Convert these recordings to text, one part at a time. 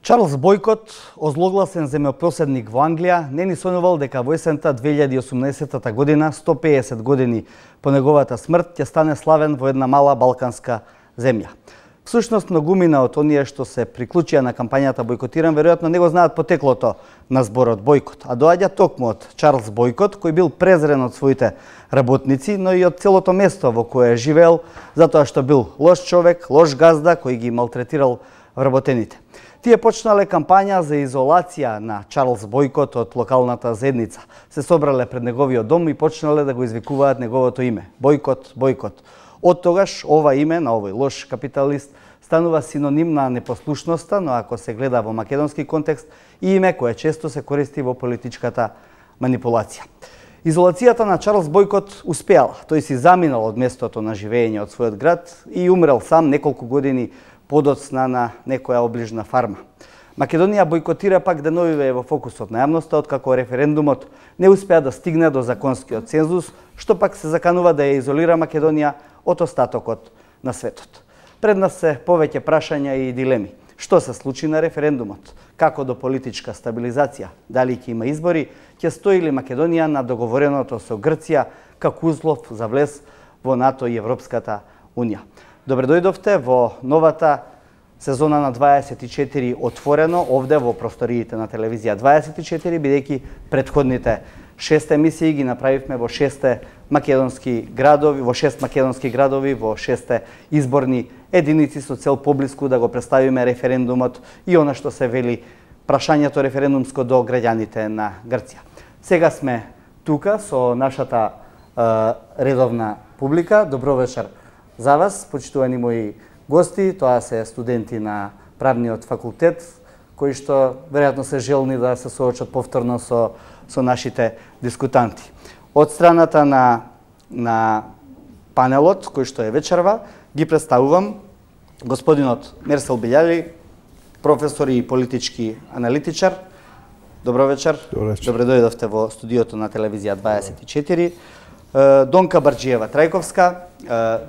Чарлс Бојкот, озлогласен земјопоседник во Англија, не ни сонувал дека во есента 2018 година, 150 години по неговата смрт, ќе стане славен во една мала балканска земја. Всушност, многумина од оние што се приклучија на кампањата Бојкотирам, веројатно не го знаат потеклото на зборот Бојкот, а доаѓа токму од Чарлс Бојкот, кој бил презрен од своите работници, но и од целото место во кое живеел, затоа што бил лош човек, лош газда, кој ги малтретирал вработените. Тие почнале кампања за изолација на Чарлс Бојкот од локалната заедница. Се собрале пред неговиот дом и почнале да го извикуваат неговото име. Бојкот, Бојкот. Од тогаш ова име на овој лош капиталист станува синоним на непослушноста, но ако се гледа во македонски контекст, и име кое често се користи во политичката манипулација. Изолацијата на Чарлс Бојкот успеала. Тој си заминал од местото на живење од својот град и умрел сам неколку години подоцна на некоја оближна фарма. Македонија бојкотира пак деновиве во фокусот на јавноста, откако референдумот не успеа да стигне до законскиот цензус, што пак се заканува да ја изолира Македонија од остатокот на светот. Пред нас се повеќе прашања и дилеми. Што се случи на референдумот? Како до политичка стабилизација? Дали ќе има избори? Ќе стои ли Македонија на договореното со Грција како услов за влез во НАТО и Европската Унија? Добре дојдовте во новата сезона на 24 отворено, овде во просториите на телевизија 24, бидејќи предходните 6 емисии ги направивме во 6 македонски градови, во 6 македонски градови, во 6 изборни единици со цел поблиску да го представиме референдумот и она што се вели прашањето референдумско до граѓаните на Грција. Сега сме тука со нашата редовна публика. Добро вечер за вас, почитувани мои гости. Тоа се студенти на правниот факултет, кои што веројатно се желни да се соочат повторно со нашите дискутанти. Од страната на панелот, кој што е вечерва, ги представувам господинот Мерсел Билјали, професор и политички аналитичар. Добро вечер. Добре дојдовте во студиото на телевизија 24. Донка Барџиева Трајковска,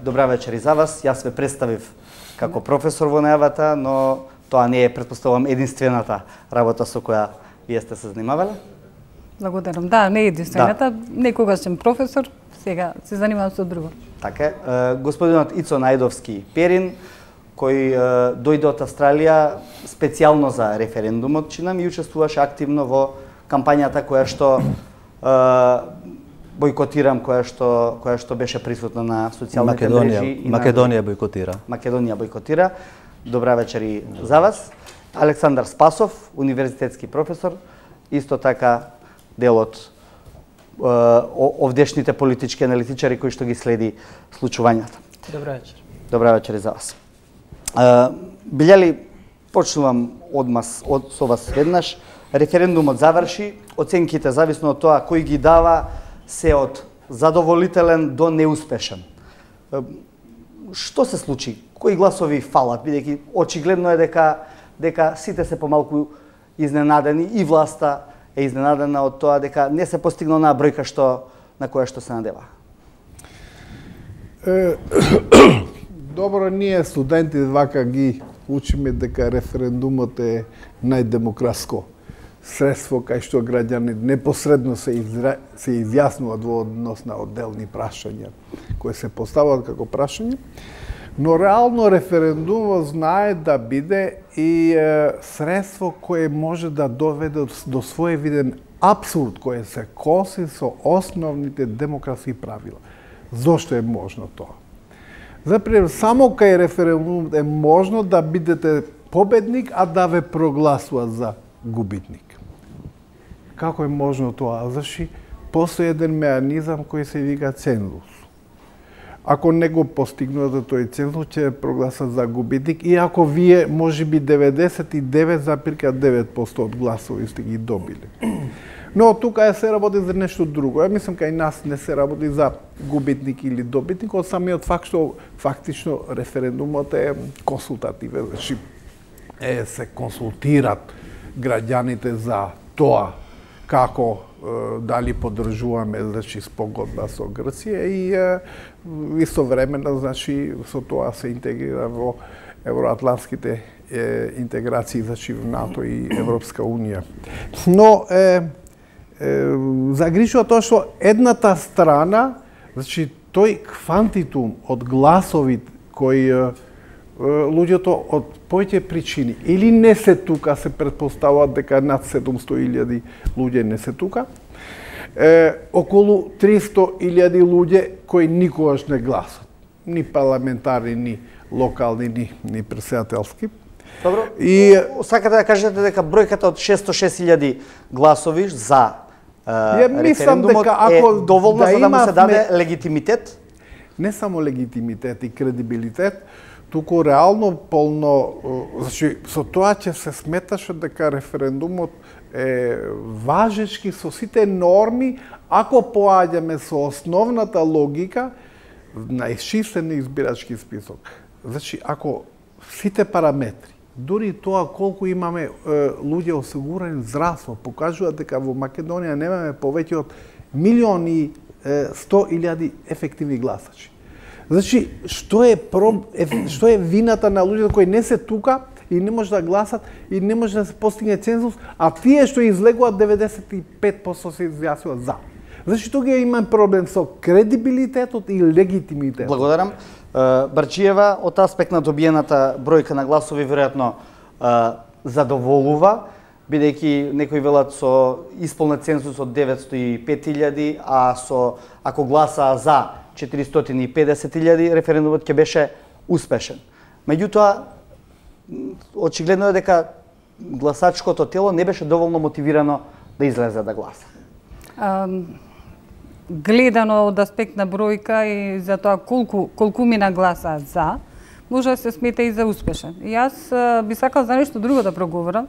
добра вечер и за вас. Јас ве представив како професор во најавата, но тоа не е, претпоставувам, единствената работа со која вие сте се занимавале. Благодарам. Да, не е единствената. Да. Некогаш сум професор, сега се занимавам со друго. Така е. Господинот Ицо Најдовски Перин, кој дојде од Австралија специјално за референдумот, чинам, и учествуваше активно во кампањата која што Бојкотирам, која што беше присутна на социјалните мрежи. Македонија бојкотира. Македонија бојкотира. Добра вечер и за вас. Александар Спасов, универзитетски професор, исто така дел од овдешните политички аналитичари кои што ги следи случувањата. Добра вечер. Добра вечер и за вас. Билјали, почнувам со вас веднаш. Референдумот заврши, оценките зависно од тоа кој ги дава се од задоволителен до неуспешен. Што се случи? Кои гласови фалат? Бидејќи очигледно е дека сите се помалку изненадени и власта е изненадена од тоа дека не се постигна онаа бројка на која што се надева. Добро, ние студенти вака ги учиме дека референдумот е најдемократско средство кај што граѓани непосредно се изјаснуваат во однос на одделни прашања кои се поставуваат како прашања, но реално референдумот знае да биде и средство кое може да доведе до своевиден апсурд кој се коси со основните демократски правила. Зошто е можно тоа? За пример, само кај референдумот е можно да бидете победник, а да ве прогласуваат за губитник. Како е можно тоа? Зашто постои еден меанизам кој се вика цензус. Ако не го постигнувате тој цензус, ќе прогласат за губитник, иако вие можеби 99,9% од гласови сте ги добили. Но тука се работи за нешто друго. Ја мислам кај нас не се работи за губитник или добитник, од самиот факт што фактично референдумот е консултативен, значи се консултираат граѓаните за тоа како дали поддржуваме, значи, спогодба со Грција и истовремено, значи, со тоа се интегрира во евроатлантските интеграции, значи в НАТО и Европска Унија. Но загрижува тоа што едната страна, значи тој квантитум од гласови кои луѓето од повеќе причини или не се тука, се претпоставува дека над 700.000 луѓе не се тука, околу 300.000 луѓе кои никогаш не гласат, ни парламентарни, ни локални, ни председателски. Добро. И сакате да кажете дека бројката од 606.000 гласови за референдумот е доволна за да му се даде легитимитет? Не само легитимитет и кредибилитет, туку реално полно, значи со тоа ќе се сметаше дека референдумот е важечки со сите норми, ако поаѓаме со основната логика на исчистен избирачки список. Значи, ако сите параметри, дури тоа колку имаме луѓе осигурени здравство, покажуваат дека во Македонија немаме повеќе од 1.100.000 ефективни гласачи. Значи, што е вината на луѓето кои не се тука и не може да гласат и не може да се постигне цензус, а тие што излегуваат 95% се изјаснуваат за. Значи, тука имам проблем со кредибилитетот и легитимитетот. Благодарам. Барчиева, од аспект на добиената бројка на гласови, веројатно задоволува, бидејќи некои велат со исполнет цензус од 905.000, а ако гласаа за 450.000, референдумот ќе беше успешен. Меѓутоа, очигледно е дека гласачкото тело не беше доволно мотивирано да излезе да гласа. Гледано од аспект на бројка и за тоа колку мина гласа за, може да се смета и за успешен. И јас би сакал за нешто друго да проговорам,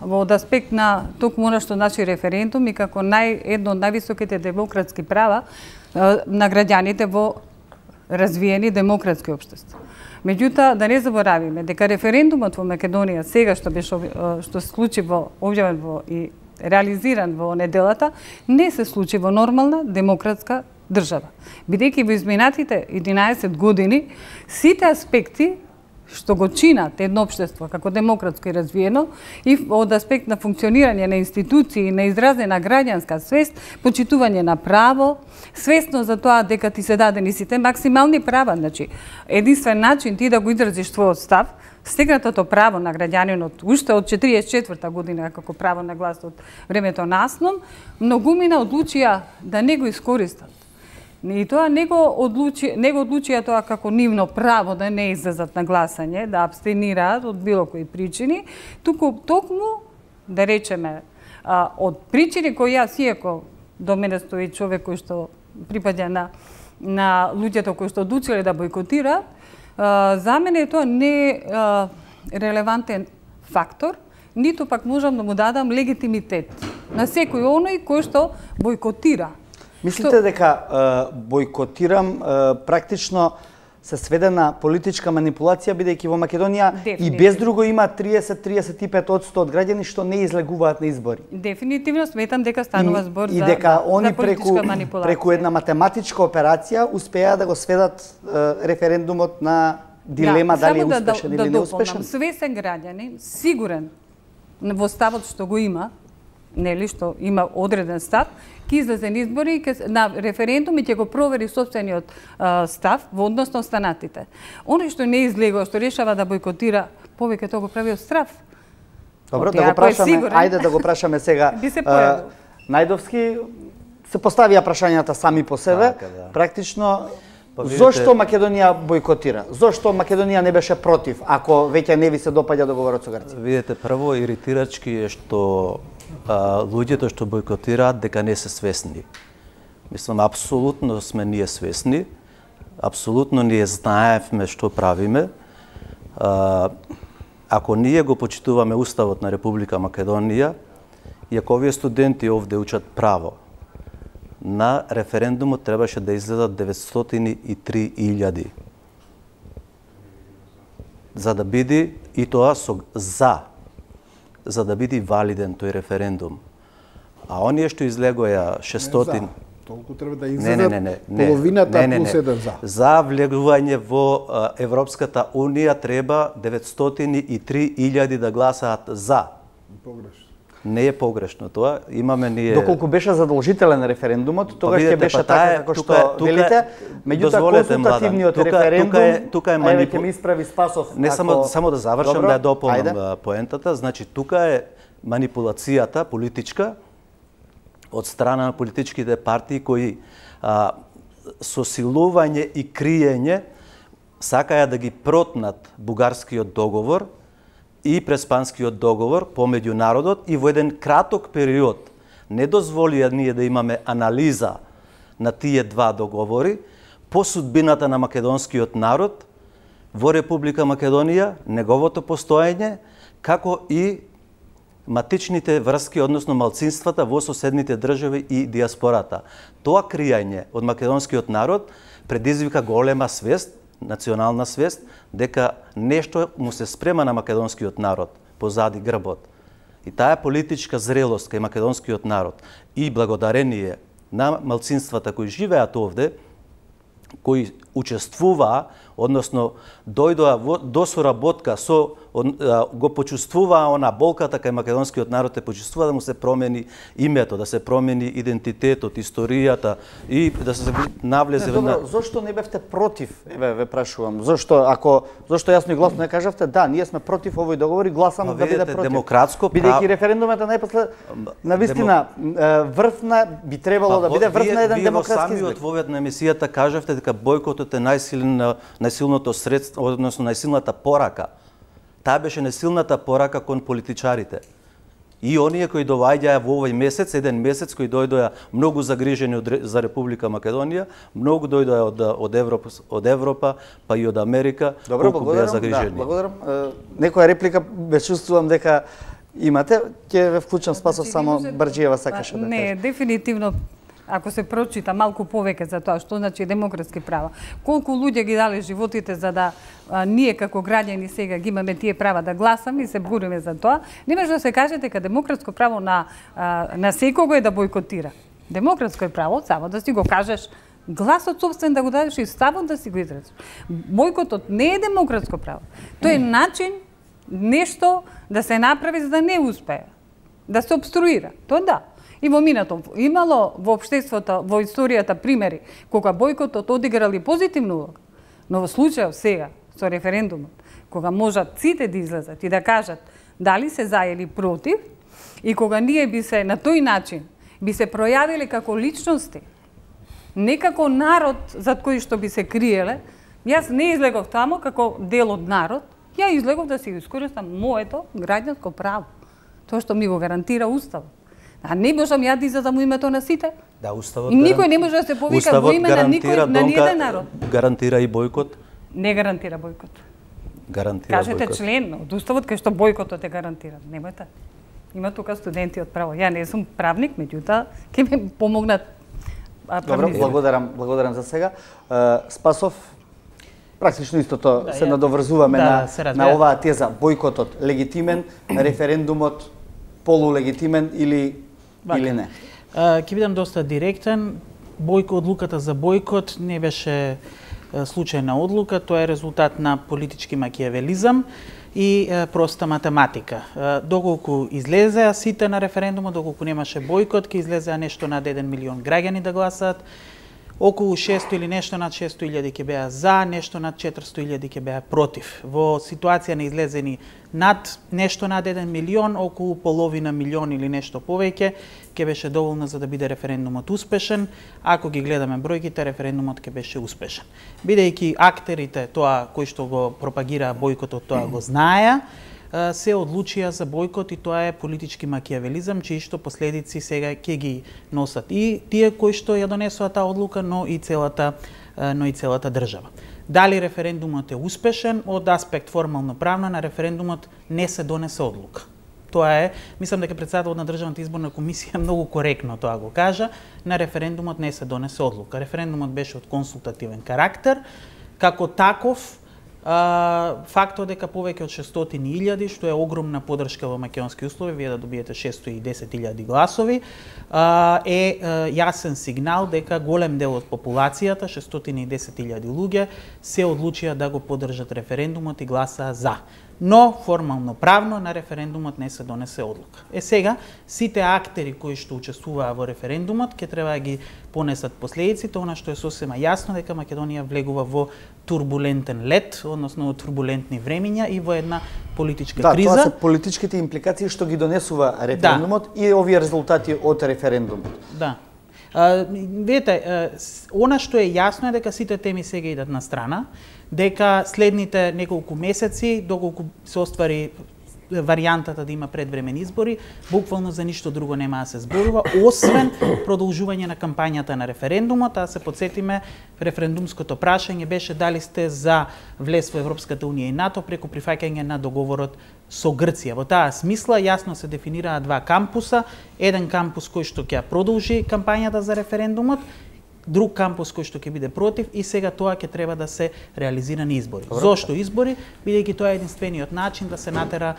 од аспект на токму она што значи референдум и како едно од највисоките демократски права на граѓаните во развиени демократски општества. Меѓутоа, да не заборавиме дека референдумот во Македонија сега што се случи објавен и реализиран во неделата, не се случи во нормална демократска држава. Бидејќи во изминатите 11 години, сите аспекти што го чинат едно општество како демократско и развиено и од аспект на функционирање на институции, на изразена граѓанска свест, почитување на право, свесно за тоа дека ти се дадени сите максимални права, значи единствен начин ти да го изразиш својот став, стегнатото право на граѓанинот уште од 44-та година како право на глас од времето на Аснон, многумина одлучија да не го искористат. И тоа не го одлучија тоа како нивно право да не излезат на гласање, да абстенираат од било кои причини, токму, да речеме, од причини кои јас иако до мене стои човек кој што припаѓа на луѓето кои што одлучиле да бойкотираат, за мене тоа не е релевантен фактор, ниту пак можам да му дадам легитимитет на секој оној кој што бойкотира. Мислите дека бойкотирам практично се сведе на политичка манипулација, бидејќи во Македонија и без друго има 30-35% од граѓани што не излегуваат на избори. Дефинитивно сметам дека станува збор за дека они преку една математичка операција успеа да го сведат референдумот на дилема дали е успешен или неуспешен. Свесен граѓанин, сигурен во ставот што го има, нели што има одреден став, ќе излезе на избори на референдум и ќе го провери сопствениот став во однос на останатите. Оној што не излегува, што решава да бойкотира, повеќе тоа го прави од страв. Добро, да го прашаме, ајде да го прашаме сега. Најдовски се поставија прашањата сами по себе, практично зошто Македонија бойкотира? Зошто Македонија не беше против, ако веќе не ви се допаѓа договорот со Грција? Видете, прво иритирачки е што луѓето што бойкотираат дека не се свесни. Мислам, апсолутно сме ние свесни, апсолутно ние знаевме што правиме. Ако ние го почитуваме Уставот на Република Македонија, и ако овие студенти овде учат право, на референдумот требаше да излезат 903.000. За да биде и тоа со за да биде валиден тој референдум. А оние што излегоја 600, Толку треба да излезат половината плюс еден за. За влегување во Европската Унија треба 903.000 да гласаат за. Погрешно. Не е погрешно тоа. Имаме ние... Доколку беше задолжителен референдумот, тогаш ќе беше така како што велите. Меѓутоа консултативниот референдум, тука е ќе ми исправи Спасов. Не само да завршам, да ја дополнам поентата. Значи тука е манипулацијата политичка од страна на политичките партии кои со силување и криење сакаја да ги протнат бугарскиот договор и преспанскиот договор помеѓу народот и во еден краток период не дозволија ние да имаме анализа на тие два договори по судбината на македонскиот народ во Република Македонија, неговото постоење, како и матичните врски, односно малцинствата во соседните држави и диаспората. Тоа кријање од македонскиот народ предизвика голема свест, национална свест, дека нешто му се спрема на македонскиот народ позади грбот. И таа политичка зрелост кај македонскиот народ и благодарение на малцинствата кои живеат овде, кои учествуваа, односно дојдоа до соработка со, го почувствуваа она болката кај македонскиот народ, почувствува да му се промени името, да се промени идентитетот, историјата и да се навлезе на... Зошто не бевте против? Еве ве прашувам. Зошто јасно и гласно не кажавте да, ние сме против овој договор и гласам да биде против. Демократско право. Бидејќи референдумот најпосле навистина врвна би требало да биде врв на еден демократски избор. Самиот во на емисијата кажавте дека бојкотот е најсилното средство, односно најсилната порака. Таа беше најсилната порака кон политичарите. И оние кои доаѓаа во овој месец, еден месец кои дојдоа многу загрижени за Република Македонија, многу дојдоа од Европа, па и од Америка, колку беа загрижени. Да, благодарам. Некоја реплика ме чувствувам дека имате, ќе ве вклучам Спасов, само Барџиева сакаше да каже. Не, дефинитивно. Ако се прочита малку повеќе за тоа што значи демократски права, колку луѓе ги дале животите за да ние како граѓани сега ги имаме тие права да гласаме и се бориме за тоа, не може да се каже дека демократско право на секого е да бојкотира. Демократско е право само да си го кажеш гласот собствен да го дадеш и ставот да си го изразиш. Бојкотот не е демократско право. Тоа е начин нешто да се направи за да не успее, да се обструира. Тоа да. И во минато имало во општеството, во историјата примери кога бојкотот одиграли позитивна улога, но во случајот сега со референдумот, кога можат сите да излезат и да кажат дали се за или против, и кога ние би се на тој начин би се пројавиле како личности, не како народ зад кој што би се криеле, јас не излегов тамо како дел од народ, ја излегов да си искористам моето граѓанско право, тоа што ми го гарантира Уставот. А не можам ја да излезам во името на сите. Да, Уставот и никој не може да се повика во име на никој, на ниеден народ. Гарантира и бојкот? Не гарантира бојкот. Гарантира кажете бојкот. Член од Уставот кај што бојкотот е гарантиран. Немојте. Има тука студенти од право. Ја не сум правник, меѓутоа ќе ми помогнат правници. Добро, благодарам за сега. Спасов, практично истото се надоврзуваме на оваа теза. Бојкотот легитимен, референдумот полулегитимен или не? Ќе бидам доста директен. Одлуката за бојкот не беше случајна одлука, тоа е резултат на политички макијавелизам и проста математика. Доколку излезеа сите на референдумот, доколку немаше бојкот, ќе излезеа нешто над 1 милион граѓани да гласаат, околу 600 или нешто над 600.000 ќе беа за, нешто над 400.000 ќе беа против. Во ситуација на излезени над нешто над 1 милион, околу половина милион или нешто повеќе, ќе беше доволно за да биде референдумот успешен. Ако ги гледаме бројките, референдумот ќе беше успешен. Бидејќи актерите, тоа кои што го пропагираа бојкотот, тоа го знаеа, се одлучија за бојкот и тоа е политички макијавелизам, чии што последици сега ќе ги носат и тие кои што ја донесоа таа одлука, но и целата држава. Дали референдумот е успешен? Од аспект формално правно на референдумот не се донесе одлука. Тоа е, мислам дека претседателот на Државната изборна комисија многу коректно тоа го кажа, на референдумот не се донесе одлука. Референдумот беше од консултативен карактер, како таков фактот дека повеќе од 600.000, што е огромна подршка во македонски услови, вие да добиете 610.000 гласови, е јасен сигнал дека голем дел од популацијата, 610.000 луѓе, се одлучија да го поддржат референдумот и гласаа за. Но формално правно на референдумот не се донесе одлука. Сега сите актери кои што учествуваа во референдумот ќе треба да ги понесат последиците, она што е сосема јасно дека Македонија влегува во турбулентен лет, односно во турбулентни времиња и во една политичка криза. Да, тоа се политичките импликации што ги донесува референдумот и овие резултати од референдумот. Да. Видете, она што е јасно е дека сите теми сега идат на страна, дека следните неколку месеци, доколку се оствари варијантата да има предвремени избори, буквално за ништо друго нема да се зборува, освен продолжување на кампањата на референдумот. А се подсетиме, референдумското прашање беше дали сте за влез во Европската унија и НАТО преку прифаќање на договорот со Грција. Во таа смисла јасно се дефинираа два кампуса, еден кампус кој што ќе продолжи кампањата за референдумот, друг кампус кој што ќе биде против, и сега тоа ќе треба да се реализира на избори. Зошто избори? Бидејќи тоа е единствениот начин да се натера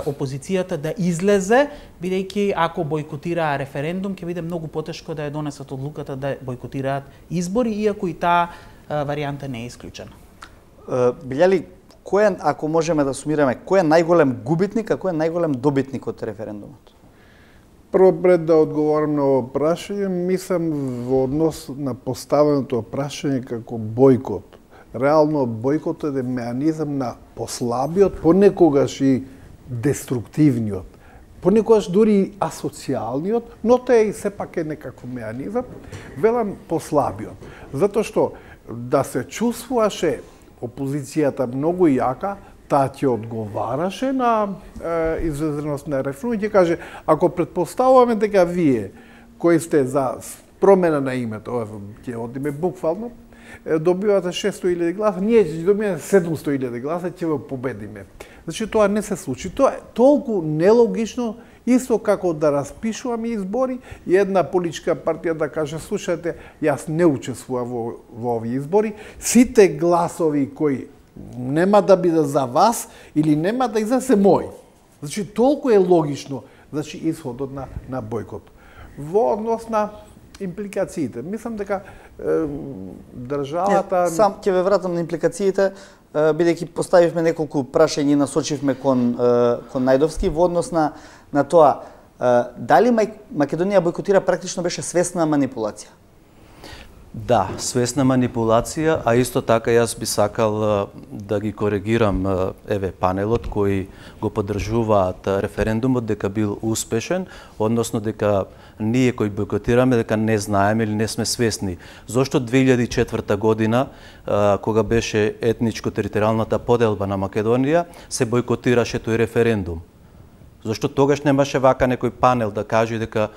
опозицијата да излезе, бидејќи ако бојкотираа референдум ќе биде многу потешко да ја донесат одлуката да бојкотираат избори, иако и таа варијанта не е исклучена. Билјали, кој е, ако можеме да сумираме, кој е најголем губитник, а кој е најголем добитник од референдумот? Прво, пред да одговорам на ово прашање, мислам во однос на поставеното прашање како бојкот. Реално, бојкотот е меанизам на послабиот, понекогаш и деструктивниот, понекогаш дури и асоцијалниот, но тоа и сепак е некако меанизам, велам послабиот. Затоа што да се чувствуваше опозицијата многу јака, таа ќе одговараше на изразеност на референдумот и ќе каже, ако претпоставуваме дека вие кои сте за промена на името, ќе одиме буквално, добивате 600.000 гласа, ние ќе добиеме 700.000 гласа, ќе го победиме. Значи тоа не се случи. Тоа е толку нелогично, исто како да распишуваме избори и една политичка партија да каже, слушате, јас не учествувам во овие избори, сите гласови кои нема да биде за вас или нема да излезе мој. Значи, толку е логично, значи, исходот на бојкот. Во однос на импликациите, мислам дека државата... Сам ќе ве вратам на импликациите, бидејќи поставивме неколку прашања и насочивме кон Најдовски во однос на тоа, дали Македонија бојкотира практично беше свесна манипулација? Да, свесна манипулација, а исто така јас би сакал да ги коригирам панелот кои го поддржуваат референдумот дека бил успешен, односно дека ние кои бојкотираме дека не знаеме или не сме свесни. Зошто 2004 година, кога беше етничко-територијалната поделба на Македонија, се бојкотираше тој референдум? Зашто тогаш немаше вака некој панел да каже дека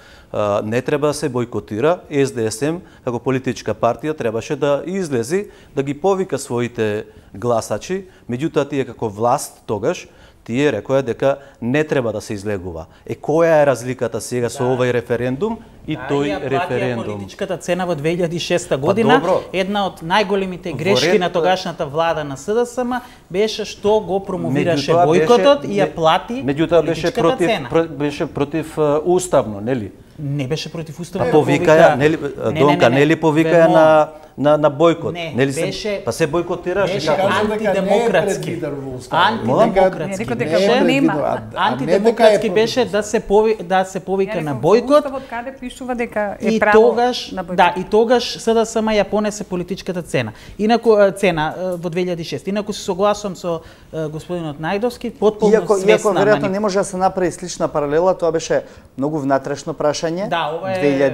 не треба да се бојкотира, СДСМ како политичка партија требаше да излези, да ги повика своите гласачи, меѓутоа тие како власт тогаш тие рекоа дека не треба да се излегува. Која е разликата сега со овој референдум и тој референдум? Политичката цена во 2006 година, една од најголемите грешки на тогашната влада на СДСМ беше што го промовираше бојкотот и ја плати политичката цена. Беше против уставно, нели? Не беше против уставно. Повикаја, нели, Донка, нели повикаја на бојкот? Не, беше... Па се бојкотираше. Беше антидемократски. Антидемократски беше да се повика на бојкот. Каде пишува дека е и право тогаш, на бојкот. Да, и тогаш СДСМ ја понесе политичката цена. Инаку цена во 2006. Инаку се согласувам со господинот Најдовски, потполно свесна. Иако веројатно не може да се направи слична паралела, тоа беше многу внатрешно прашање. Да, ова е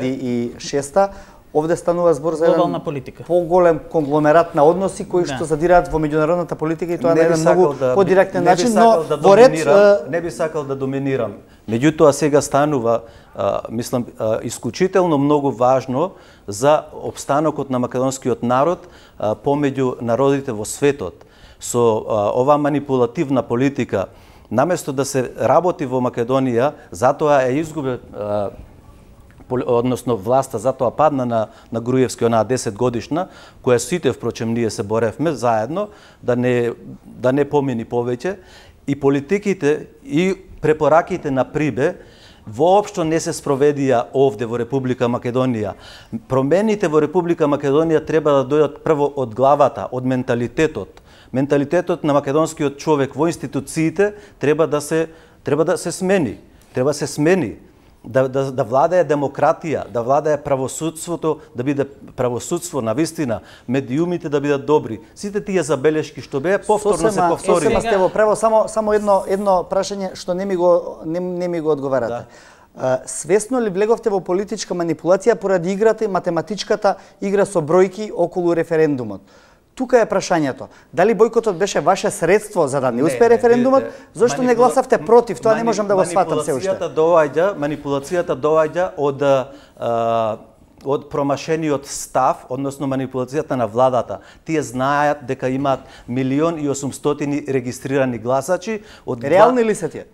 2006. Овде станува збор за еден политика. Поголем конгломерат на односи кои што задираат во меѓународната политика и тоа на еден многу подиректен начин, но во ред не би сакал да доминирам. Меѓутоа сега станува мислам исклучително многу важно за опстанокот на македонскиот народ помеѓу народите во светот. Со оваа манипулативна политика, наместо да се работи во Македонија, затоа е изгубен односно власта затоа падна на Груевски, онаа 10 годишна, која сите впрочем ние се боревме заедно да не помини повеќе, и политиките и препораките на Прибе воопшто не се спроведија овде во Република Македонија. Промените во Република Македонија треба да дојдат прво од главата, од менталитетот. Менталитетот на македонскиот човек во институциите треба да се смени. Треба се смени. Да владае демократија, да владае правосудството, да биде правосудство на вистина, медиумите да бидат добри. Сите тие забелешки што беа повторно се повтори. Сосема сте во право, само едно прашање што не ми го одговарате. Да. Свесно ли влеговте во политичка манипулација поради играта и математичката игра со бројки околу референдумот? Тука е прашањето. Дали бойкотот беше ваше средство за да не успее референдумот? Зошто не гласавте против? Тоа не можам да го сватам се уште. Манипулацијата доаѓа од промашениот став, односно манипулацијата на владата. Тие знаат дека имаат 1.800.000 регистрирани гласачи. Реални ли се тие?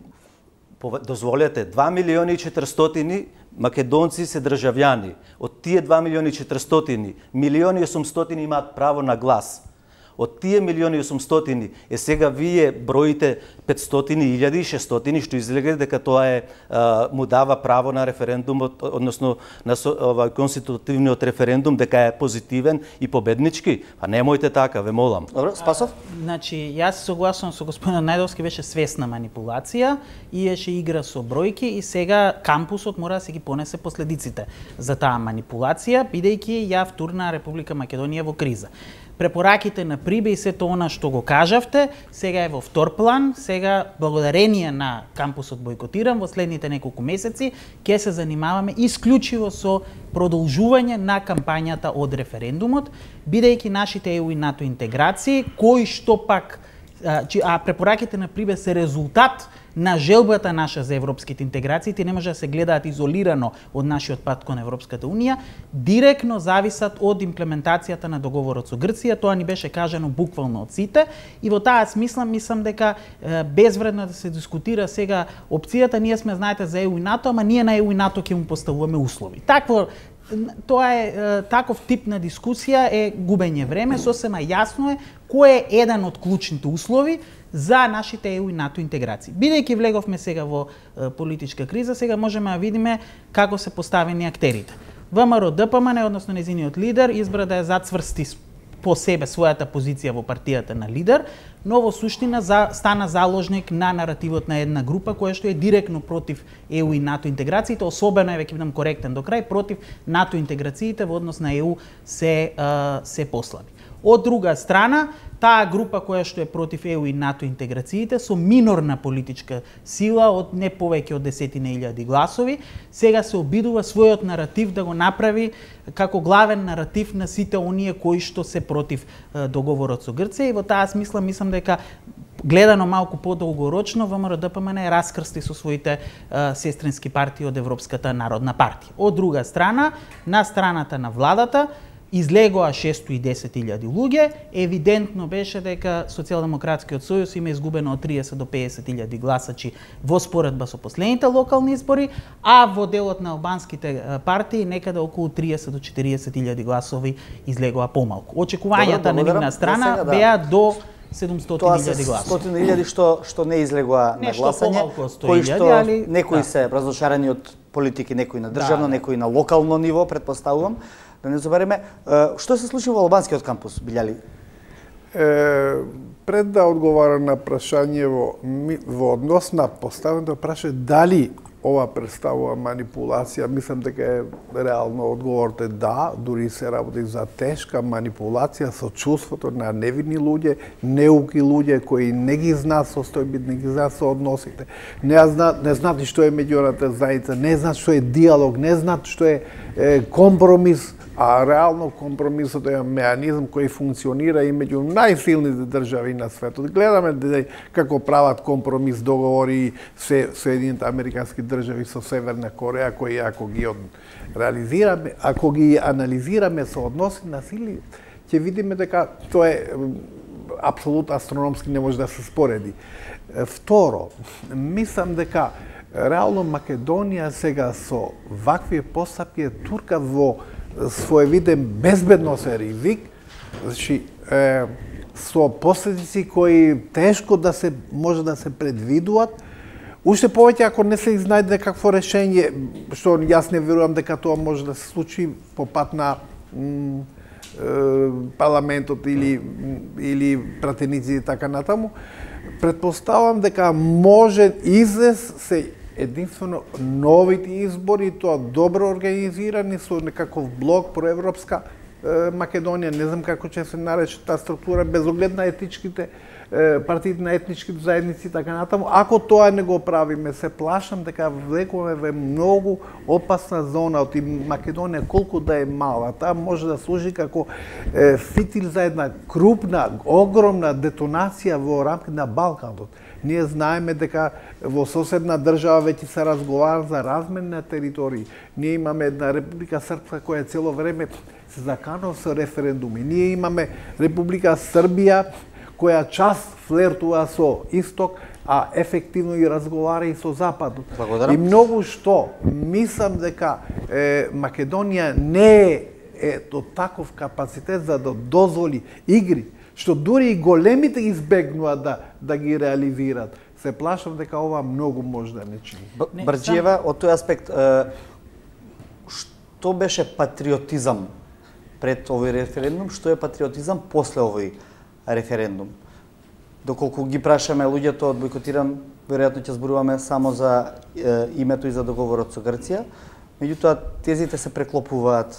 Дозволете, 2.400.000 македонци се државјани. Од тие 2.400.000, 1.800.000 имаат право на глас. Од тие 1.800.000 сега вие броите 500.000, 600.000, што излега дека тоа му дава право на референдумот, односно на конститутивниот референдум, дека е позитивен и победнички. Па немојте така, ве молам. Добро, Спасов? Значи, јас согласувам со господинот Најдовски, беше свесна манипулација, иеше игра со бројки и сега кампусот мора да се ги понесе последиците за таа манипулација, бидејќи ја втурна Република Македонија во криза. Препораките на Прибе и сето она што го кажавте, сега е во втор план, сега благодарение на кампусот бойкотиран во следните неколку месеци ќе се занимаваме исклучиво со продолжување на кампањата од референдумот, бидејќи нашите ЕУ и НАТО интеграции, кои што пак препораките на Прибе се резултат на желбата наша за европските интеграции, не може да се гледаат изолирано од нашиот пат кон Европската Унија, директно зависат од имплементацијата на договорот со Грција. Тоа ни беше кажано буквално од сите и во таа смисла мислам дека безвредно да се дискутира сега опцијата. Ние сме, знаете, за ЕУ и НАТО, ама ние на ЕУ и НАТО ќе му поставуваме услови. Тоа е таков тип на дискусија е губење време, сосема јасно е кој е еден од клучните услови за нашите ЕУ и НАТО интеграции. Бидејќи влеговме сега во политичка криза, сега можеме да видиме како се поставени актерите. ВМРО ДПМН, односно незиниот лидер, избра да ја зацврсти по себе својата позиција во партијата на лидер, но во суштина стана заложник на наративот на една група која што е директно против ЕУ и НАТО интеграциите, особено е, веќе бидам коректен до крај, против НАТО интеграциите во однос на ЕУ се послаби. Од друга страна, таа група која што е против ЕУ и НАТО интеграциите со минорна политичка сила од не повеќе од 10.000 гласови, сега се обидува својот наратив да го направи како главен наратив на сите оние кои што се против договорот со Грција, и во таа смисла мислам дека гледано малку подолгорочно ВМРО ДПМН е раскрсти со своите сестрински партии од Европската народна партија. Од друга страна, на страната на владата излегоа 610.000 луѓе, евидентно беше дека Социјалдемократскиот сојуз има изгубено од 30 до 50.000 гласачи во споредба со последните локални избори, а во делот на албанските партии некаде околу 30 до 40.000 гласови излегоа помалку. Очекувањата на нивна страна беа до 700.000 гласови. 100.000 што не излегоа на гласање, кои што некои се разошарени од политики, некои на државно, некои на локално ниво, претпоставувам. Да не забереме, што се случи во албанскиот кампус, Билјали? Пред да одговарам на прашање во однос на поставеното прашање дали ова представува манипулација, мислам дека е реално одговорот е да, дури се работи за тешка манипулација со чувството на невинни луѓе, неуки луѓе кои не ги знаат состојбите, не ги знаат соодносите, не знаат што е меѓународната заедница, не знаат што е диалог, не знаат што е компромис, а реално компромисот е меанизм кој функционира и меѓу најсилните држави на светот. Гледаме како прават компромис, договори Соединените американски држави со Северна Кореја, кои ако ги анализираме со односи на сили, ќе видиме дека тоа е апсолутно астрономски, не може да се спореди. Второ, мислам дека реално Македонија сега со вакви постапки е турка во своевиден безбедносен ризик, значи со последици кои тешко да се може да се предвидуваат. Уште повеќе ако не се изнајде какво решение, што јас не верувам дека тоа може да се случи по пат на парламентот или пратеници и така натаму, претпоставам дека може излез се единствено новите избори, тоа добро организирани со некаков блок проевропска Македонија, не знам како ќе се нарече таа структура, без оглед на етничките партиите на етничките заедници и така натаму. Ако тоа не го правиме, се плашам дека влегуваме во многу опасна зона од Македонија, колку да е мала. Таа може да служи како фитил за една крупна, огромна детонација во рамките на Балканот. Ние знаеме дека во соседна држава веќе се разговара за размен на територии. Ние имаме една Република Српска која цело време се заканува со референдуми. Ние имаме Република Србија која час флертува со Исток, а ефективно и разговара и со Западот. Благодарам. И многу што мислам дека Македонија не е до таков капацитет за да дозволи игри, што дури и големите избегнуваат да ги реализираат. Се плашам дека ова многу може да не чини. Брџиева, од тој аспект, што беше патриотизам пред овој референдум, што е патриотизам после овој референдум? Доколку ги прашаме луѓето од бойкотиран, веројатно ќе зборуваме само за името и за договорот со Грција, меѓутоа тезите се преклопуваат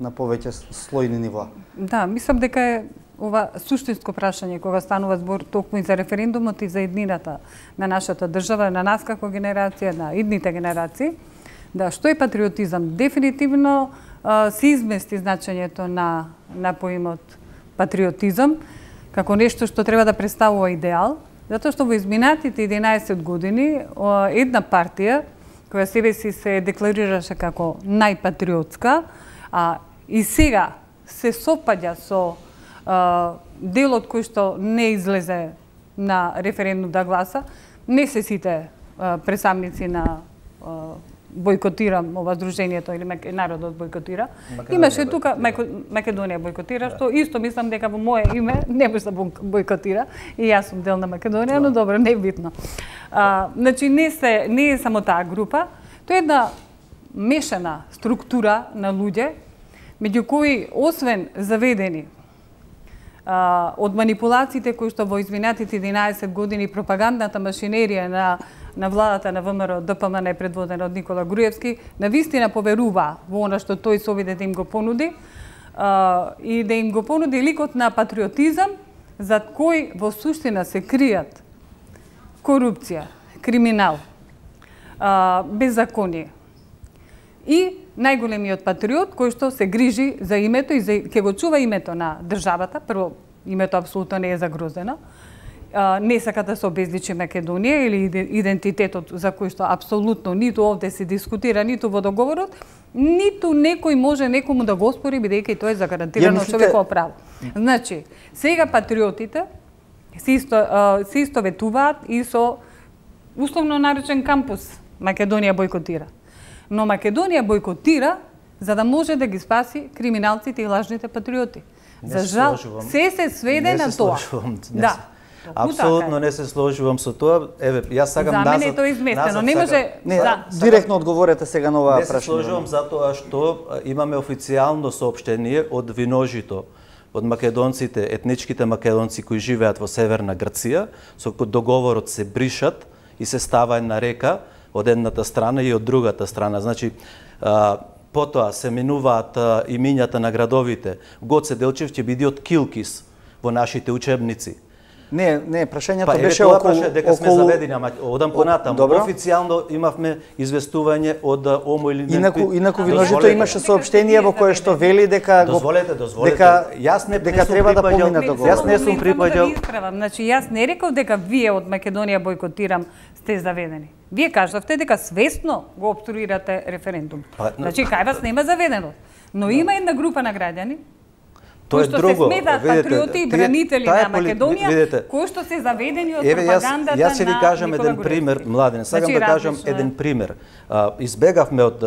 на повеќе слојни нива. Да, мислам дека е ова суштинско прашање кога станува збор токму и за референдумот и за иднината на нашата држава, на нас како генерација, на идните генерации. Да, што е патриотизам? Дефинитивно се измести значењето на поимот патриотизам како нешто што треба да представува идеал, затоа што во изминатите 11 години една партија која себе си се декларираше како најпатриотска, и сега се сопаѓа со делот кој што не излезе на референдум да гласа, не се сите представници на бойкотирам ова здруженијето или народот бойкотира. Имаше тука Македонија бойкотира, што исто мислам дека во мое име не може да бойкотира и јас сум дел на Македонија, но добро, не е битно. Значи не е само таа група, тоа е една мешана структура на луѓе, меѓу кои освен заведени од манипулациите кои што во изминатите 11 години пропагандната машинерија на владата на ВМРО ДПМН предводена од Никола Груевски, навистина поверува во она што тој се обиде да им го понуди и да им го понуди ликот на патриотизам, зад кој во суштина се кријат корупција, криминал, беззаконие. И најголемиот патриот кој што се грижи за името и ќе го чува името на државата. Прво, името апсолутно не е загрозено. Не сака да се обезличи Македонија или идентитетот за кој што апсолутно ниту овде се дискутира, ниту во договорот, ниту некој може некому да го оспори, бидејќи тоа е загарантирано човеково право. Значи, сега патриотите се истоветуваат и со условно наречен кампус Македонија бойкотира. Но Македонија бойкотира за да може да ги спаси криминалците и лажните патриоти. За жал, се сведе на тоа. Да. Апсолутно не се сложувам со тоа. Еве, јас сакам назад. За мене е тоа изместено. Не може директно одговорете сега на оваа прашање. Не се сложувам затоа што имаме официјално соопштение од Виножито, од македонците, етничките македонци кои живеат во северна Грција, со договорот се бришат и се става една река од едната страна и од другата страна. Значи, потоа се минуваат имињата на градовите. Гоце Делчев ќе биде од Килкис во нашите учебници. Не, прашањето беше околу дека сме заведени, ама одам понатаму. Официјално имавме известување од ОМО или Инаку Виножито имаше соопштение во кое што вели дека Дозволете. Дека треба да помине договор. Јас не сум припаѓал. Значи јас не реков дека вие од Македонија бойкотирам сте заведени. Вие кажавте дека свесно го обструирате референдум. Значи кај вас нема заведено. Но има една група на граѓани Тоа е друго. Кои што се сметаат патриоти и бранители на Македонија, кои што се заведени од пропагандата на Јас ќе ви кажам еден пример, Младен. Сакам да кажам еден пример. Избегавме од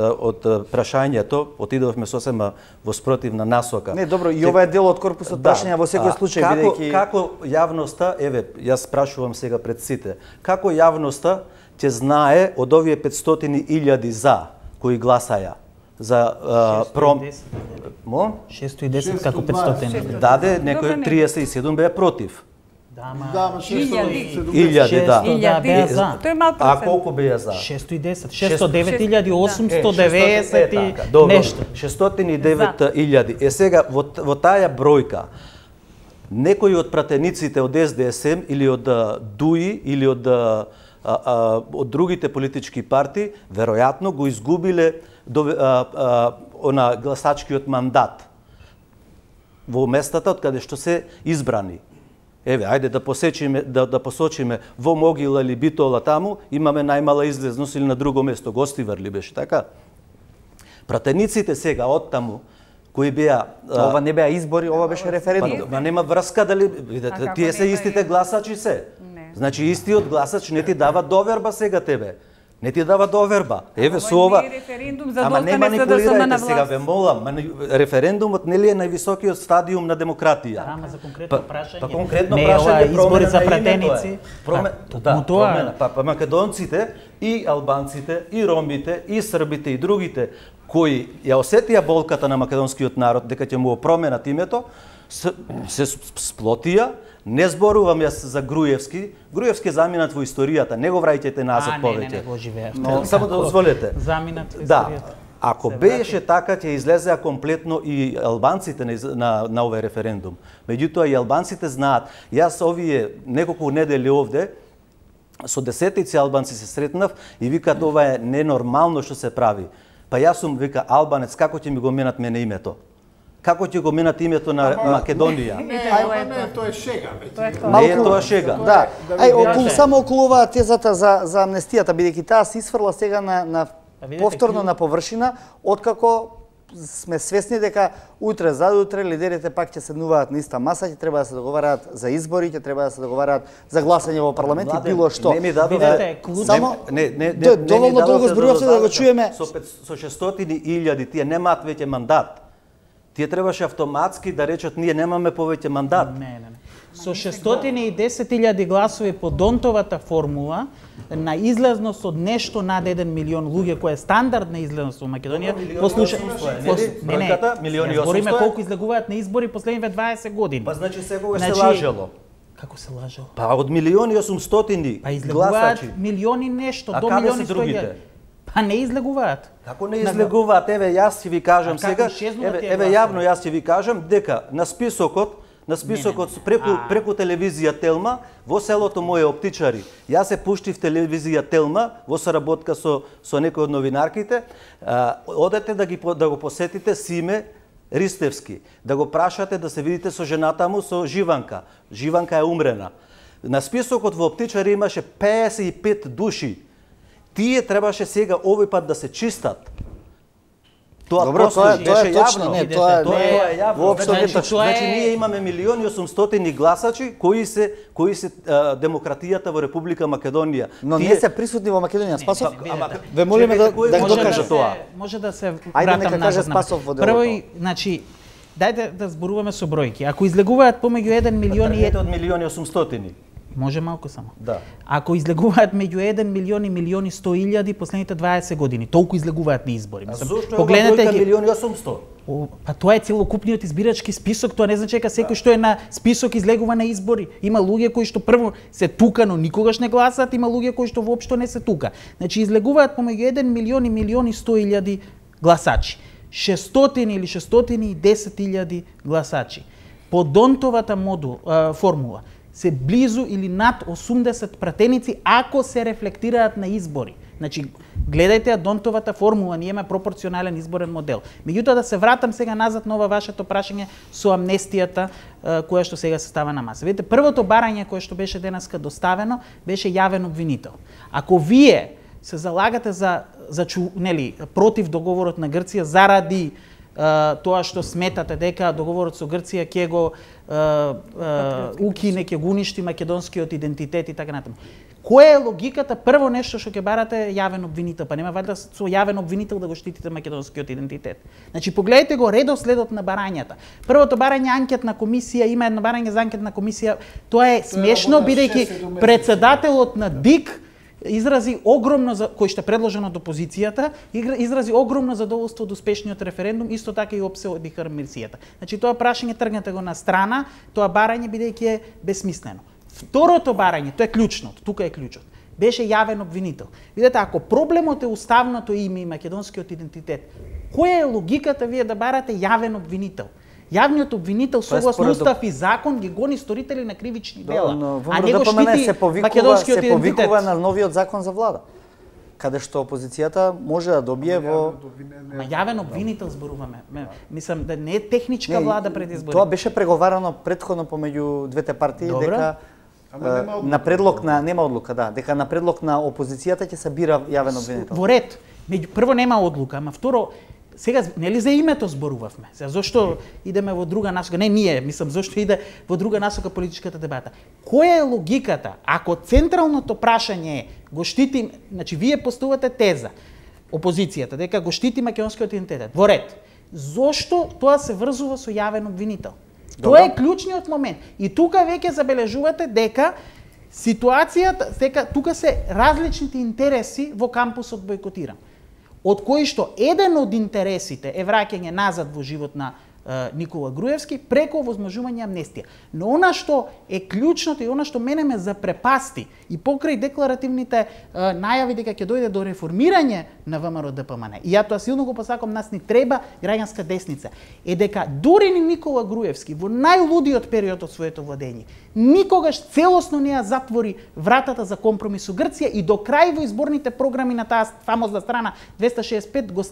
прашањето, отидовме сосема во спротивна насока. Не, добро, и ова е дел од корпусот прашања во секој случај, бидејќи како јавноста, јас прашувам сега пред сите, како јавноста ќе знае од овие 500.000 за кои гласаја за 610 како 500. Даде некој 37 беа против. Да, Илјади, да. беа за. Тој е мал А колку беа за? 610, 609.890 нешто. 609.000. Сега во таа бројка некои од пратениците од СДСМ или од ДУИ или од другите политички партии веројатно го изгубиле гласачкиот мандат во местата од каде што се избрани. Еве, ајде да посочиме во Могила или Битола таму имаме најмала излезност или на друго место, Гостивар ли беше така? Пратениците сега од таму кои беа ова не беа избори, ова беше референдум. Ма нема врска дали видите, тие се истите гласачи се. Значи истиот гласач не ти дава доверба сега тебе. Не ти дава доверба. Еве со ова. Ама не манипулирајте сега, ве молам. Референдумот нели е највисокиот стадиум на демократија. Ама за конкретно прашање. Па конкретно не, прашање избори за пратеници. Па македонците и албанците и ромите и србите и другите кои ја осетија болката на македонскиот народ дека ќе му променат името, се сплотија. Не зборувам јас за Груевски. Груевски е заминат во историјата, не го враќајте назад повеќе. Не го живеев. Но само да дозволете. Заминат во историјата. Да. Ако беше така, ќе излезеа комплетно и албанците на овој референдум. Меѓутоа и албанците знаат. Јас овие неколку недели овде со десетици албанци се сретнав и викаат ова е ненормално што се прави. Па јас сум вика албанец, како ќе ми го менат мене името? Како ќе го менат името на Македонија? Не, тоа е шега веќе. Не е тоа шега. Да. Само околу оваа тезата за амнестијата, бидејќи таа се исфрла сега на повторно на површина, откако сме свесни дека утре задутре лидерите пак ќе седнуваат на иста маса, ќе треба да се договараат за избори, ќе треба да се договараат за гласање во парламент и било што. Не ми дадовте само доволно долго зборувавте да го чуеме. Со 600.000 тие немаат веќе мандат. Тие требаше автоматски да речат ние немаме повеќе мандат. Не. Со 610.000 гласови по Донтовата формула на излезност од нешто над 1 милион луѓе, која е стандардна излезност во Македонија, по случај милиони 800. Збориме колку излегуваат на избори последниве 20 години. Па значи секогаш се лажело. Како се лажело? Па од 1.800.000 па излегуваат милиони нешто, до милиони 100.000. Па не излегуваат. Како не излегуваат? Еве јас ќе ви кажам сега, еве јавно јас ќе ви кажам дека на списокот преку телевизија Телма во селото моје Оптичари. Јас се пуштив телевизија Телма во соработка со некои од новинарките. Одете да го посетите Симе Ристевски, да го прашате да се видите со жената му, со Живанка. Живанка е умрена. На списокот во Оптичари имаше 55 души. Тие требаше сега овој пат да се чистат. Тоа беше јавно. Не, тоа е јавно. Воопшто не точно. Значи ние имаме 1.800.000 гласачи кои се демократијата во Република Македонија. Но не се присутни во Македонија. Спасов, ве молиме да го докаже тоа. Може да се Ајде нека каже Спасов во делото. Прво, значи, дајте да зборуваме со бројки. Ако излегуваат помеѓу 1 милион и од 1.800.000. Може малку само. Да. Ако излегуваат меѓу 1 милион и милиони 100.000 последните 20 години, толку излегуваат на избори. Погледнете ги 1.800.000. Па тоа е целокупниот избирачки список, тоа не значи дека секој што е на список излегува на избори. Има луѓе кои што прво се тука, но никогаш не гласаат, има луѓе кои што воопшто не се тука. Значи излегуваат помеѓу 1 милион и милиони 100.000 гласачи. 600 или 610.000 гласачи. По Донтовата формула се близу или над 80 пратеници ако се рефлектираат на избори. Значи, гледајте Донтовата формула, ние имаме пропорционален изборен модел. Меѓутоа да се вратам сега назад на ова вашето прашање со амнестијата која што сега се става на маса. Видите, првото барање кое што беше денеска доставено беше јавен обвинител. Ако вие се залагате против договорот на Грција заради тоа што сметате дека договорот со Грција ќе го укине, ќе го уништи македонскиот идентитет и така натаму. Која е логиката? Прво нешто што ќе барате е јавен обвинител, па нема вајда со јавен обвинител да го штитите македонскиот идентитет. Значи погледнете го редоследот на барањата. Првото барање анкетна комисија, има едно барање за анкетна комисија, тоа е смешно бидејќи председателот на ДИК изрази огромно кој што е предложен од опозицијата, изрази огромно задоволство од успешниот референдум, исто така и опсеоди хармерсијата. Значи тоа прашање тргнете го на страна, тоа барање бидејќи е бесмислено. Второто барање, тоа е клучното, тука е клучот. Беше јавен обвинител. Видете, ако проблемот е уставното име и македонскиот идентитет, која е логиката вие да барате јавен обвинител? Јавниот обвинител согласно устав и закон ги гони сторители на кривични дела, а не го штити македонскиот идентитет. Се повикува на новиот закон за влада, каде што опозицијата може да добие во... Ма јавен обвинител зборуваме. Мислам да не е техничка влада пред избори. Тоа беше преговарано претходно помеѓу двете партии, дека на предлог на нема одлука, да, дека на предлог на опозицијата ќе се бира јавен обвинител. Во ред. Прво нема одлука, ама второ сега нели за името зборувавме. Сега зошто идеме во друга насока? Не ние, мислам зошто иде во друга насока политичката дебата. Која е логиката ако централното прашање е го штити, значи вие поставувате теза опозицијата дека го штити македонскиот идентитет. Во ред. Зошто тоа се врзува со јавен обвинител? Тоа е клучниот момент. И тука веќе забележувате дека ситуацијата, дека тука се различните интереси во кампусот Бојкотирам. Од кои што еден од интересите е враќање назад во живот на Никола Груевски преку возможување амнестија. Но она што е клучното и она што мене ме запрепасти и покрај декларативните најави дека ќе дојде до реформирање на ВМРО-ДПМН, и ја тоа силно го посакам, нас ни треба граѓанска десница, е дека дури ни Никола Груевски во најлудиот период од своето владење никогаш целосно не ја затвори вратата за компромис со Грција и до крај во изборните програми на таа фамозна страна 265 го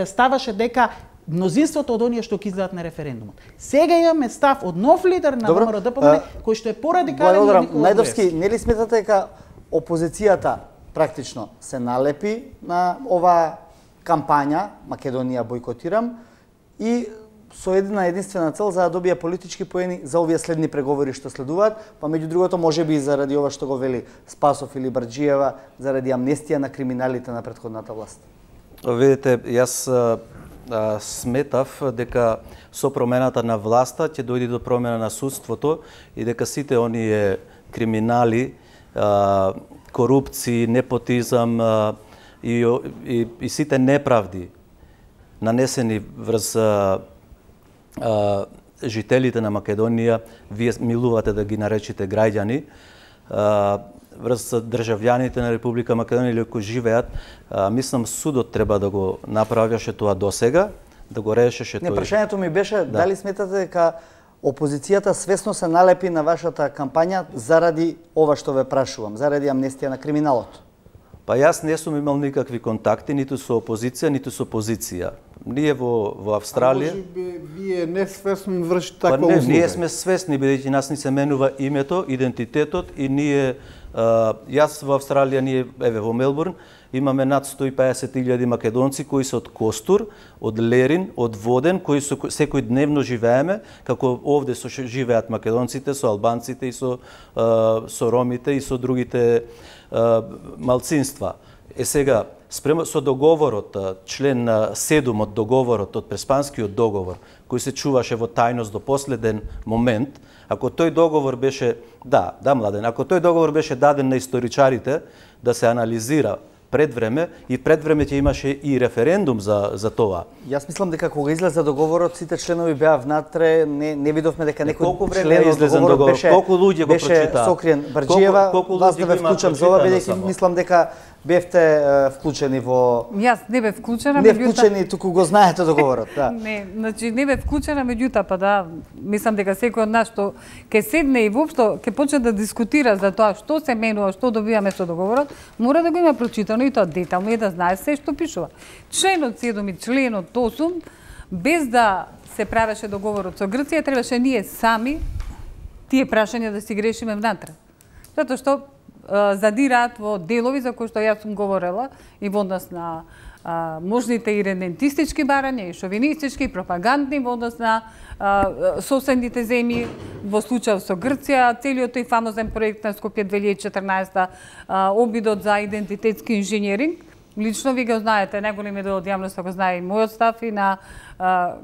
ставаше дека мнозинството од оние што ќе излезат на референдумот. Сега имаме став од нов лидер на ВМРО-ДПМН кој што е порадикален од Никола Најдовски, нели сметате дека опозицијата практично се налепи на ова кампања Македонија Бојкотирам и со една единствена цел за да добие политички поени за овие следни преговори што следуваат, па меѓу другото можеби и заради ова што го вели Спасов или Барџиева, заради амнестија на криминалите на претходната власт? Видите, јас сметав дека со промената на власта ќе дојде до промена на судството и дека сите оние криминали, корупција, непотизам и сите неправди нанесени врз жителите на Македонија, вие милувате да ги наречите граѓани, врз државјаните на Република Македонија или кои живеат, мислам судот треба да го направеше тоа досега, да го решеше тој. Не, прашањето ми беше дали сметате дека опозицијата свесно се налепи на вашата кампања заради ова што ве прашувам, заради амнестија на криминалот? Па јас не сум имал никакви контакти ниту со опозиција, ниту со позиција. Ние во Австралија... Вие несвесно вршите таква услуга? Ние сме свесни, бидејќи нас ни се менува името, идентитетот и ние... Јас во Австралија, ние, во Мелбурн, имаме над 150.000 македонци кои се од Костур, од Лерин, од Воден, кои секој дневно живееме, како овде живеат македонците, со албанците и со ромите и со другите малцинства. Сега, спрема со договорот, член 7 од договорот, од Преспанскиот договор, кој се чуваше во тајност до последен момент, ако тој договор беше, Младен, ако тој договор беше даден на историчарите да се анализира пред време и пред време ќе имаше и референдум за тоа. Јас мислам дека кога излезе договорот сите членови беа внатре, не видовме дека некој член од договорот беше колку луѓе го прочитаа. Сокриен. Барџиева, вас не ве вклучам за ова, бидејќи мислам дека бевте вклучени во... Јас не бев вклучена, не вклучени, туку го знаете договорот, да. Не, значи не бев вклучена, меѓутоа па да, мислам дека секој од нас што ќе седне и воопшто ќе почне да дискутира за тоа што се менува, што добиваме со договорот, мора да го има прочитано и тоа детално и да знае се што пишува. Членот 7 и членот 8, без да се правеше договорот со Грција, требаше ние сами тие прашања да си грешиме внатре. Затоа што задираат во делови за кои што јас сум говорела и во однос на можните и редентистички барања, и шовинистички, и пропагандни во однос на соседните земји, во случај со Грција, целиот тој фамозен проект на Скопје 2014, обидот за идентитетски инженеринг. Лично ви го знаете, најголем дел од јавноста го знае и мојот став и на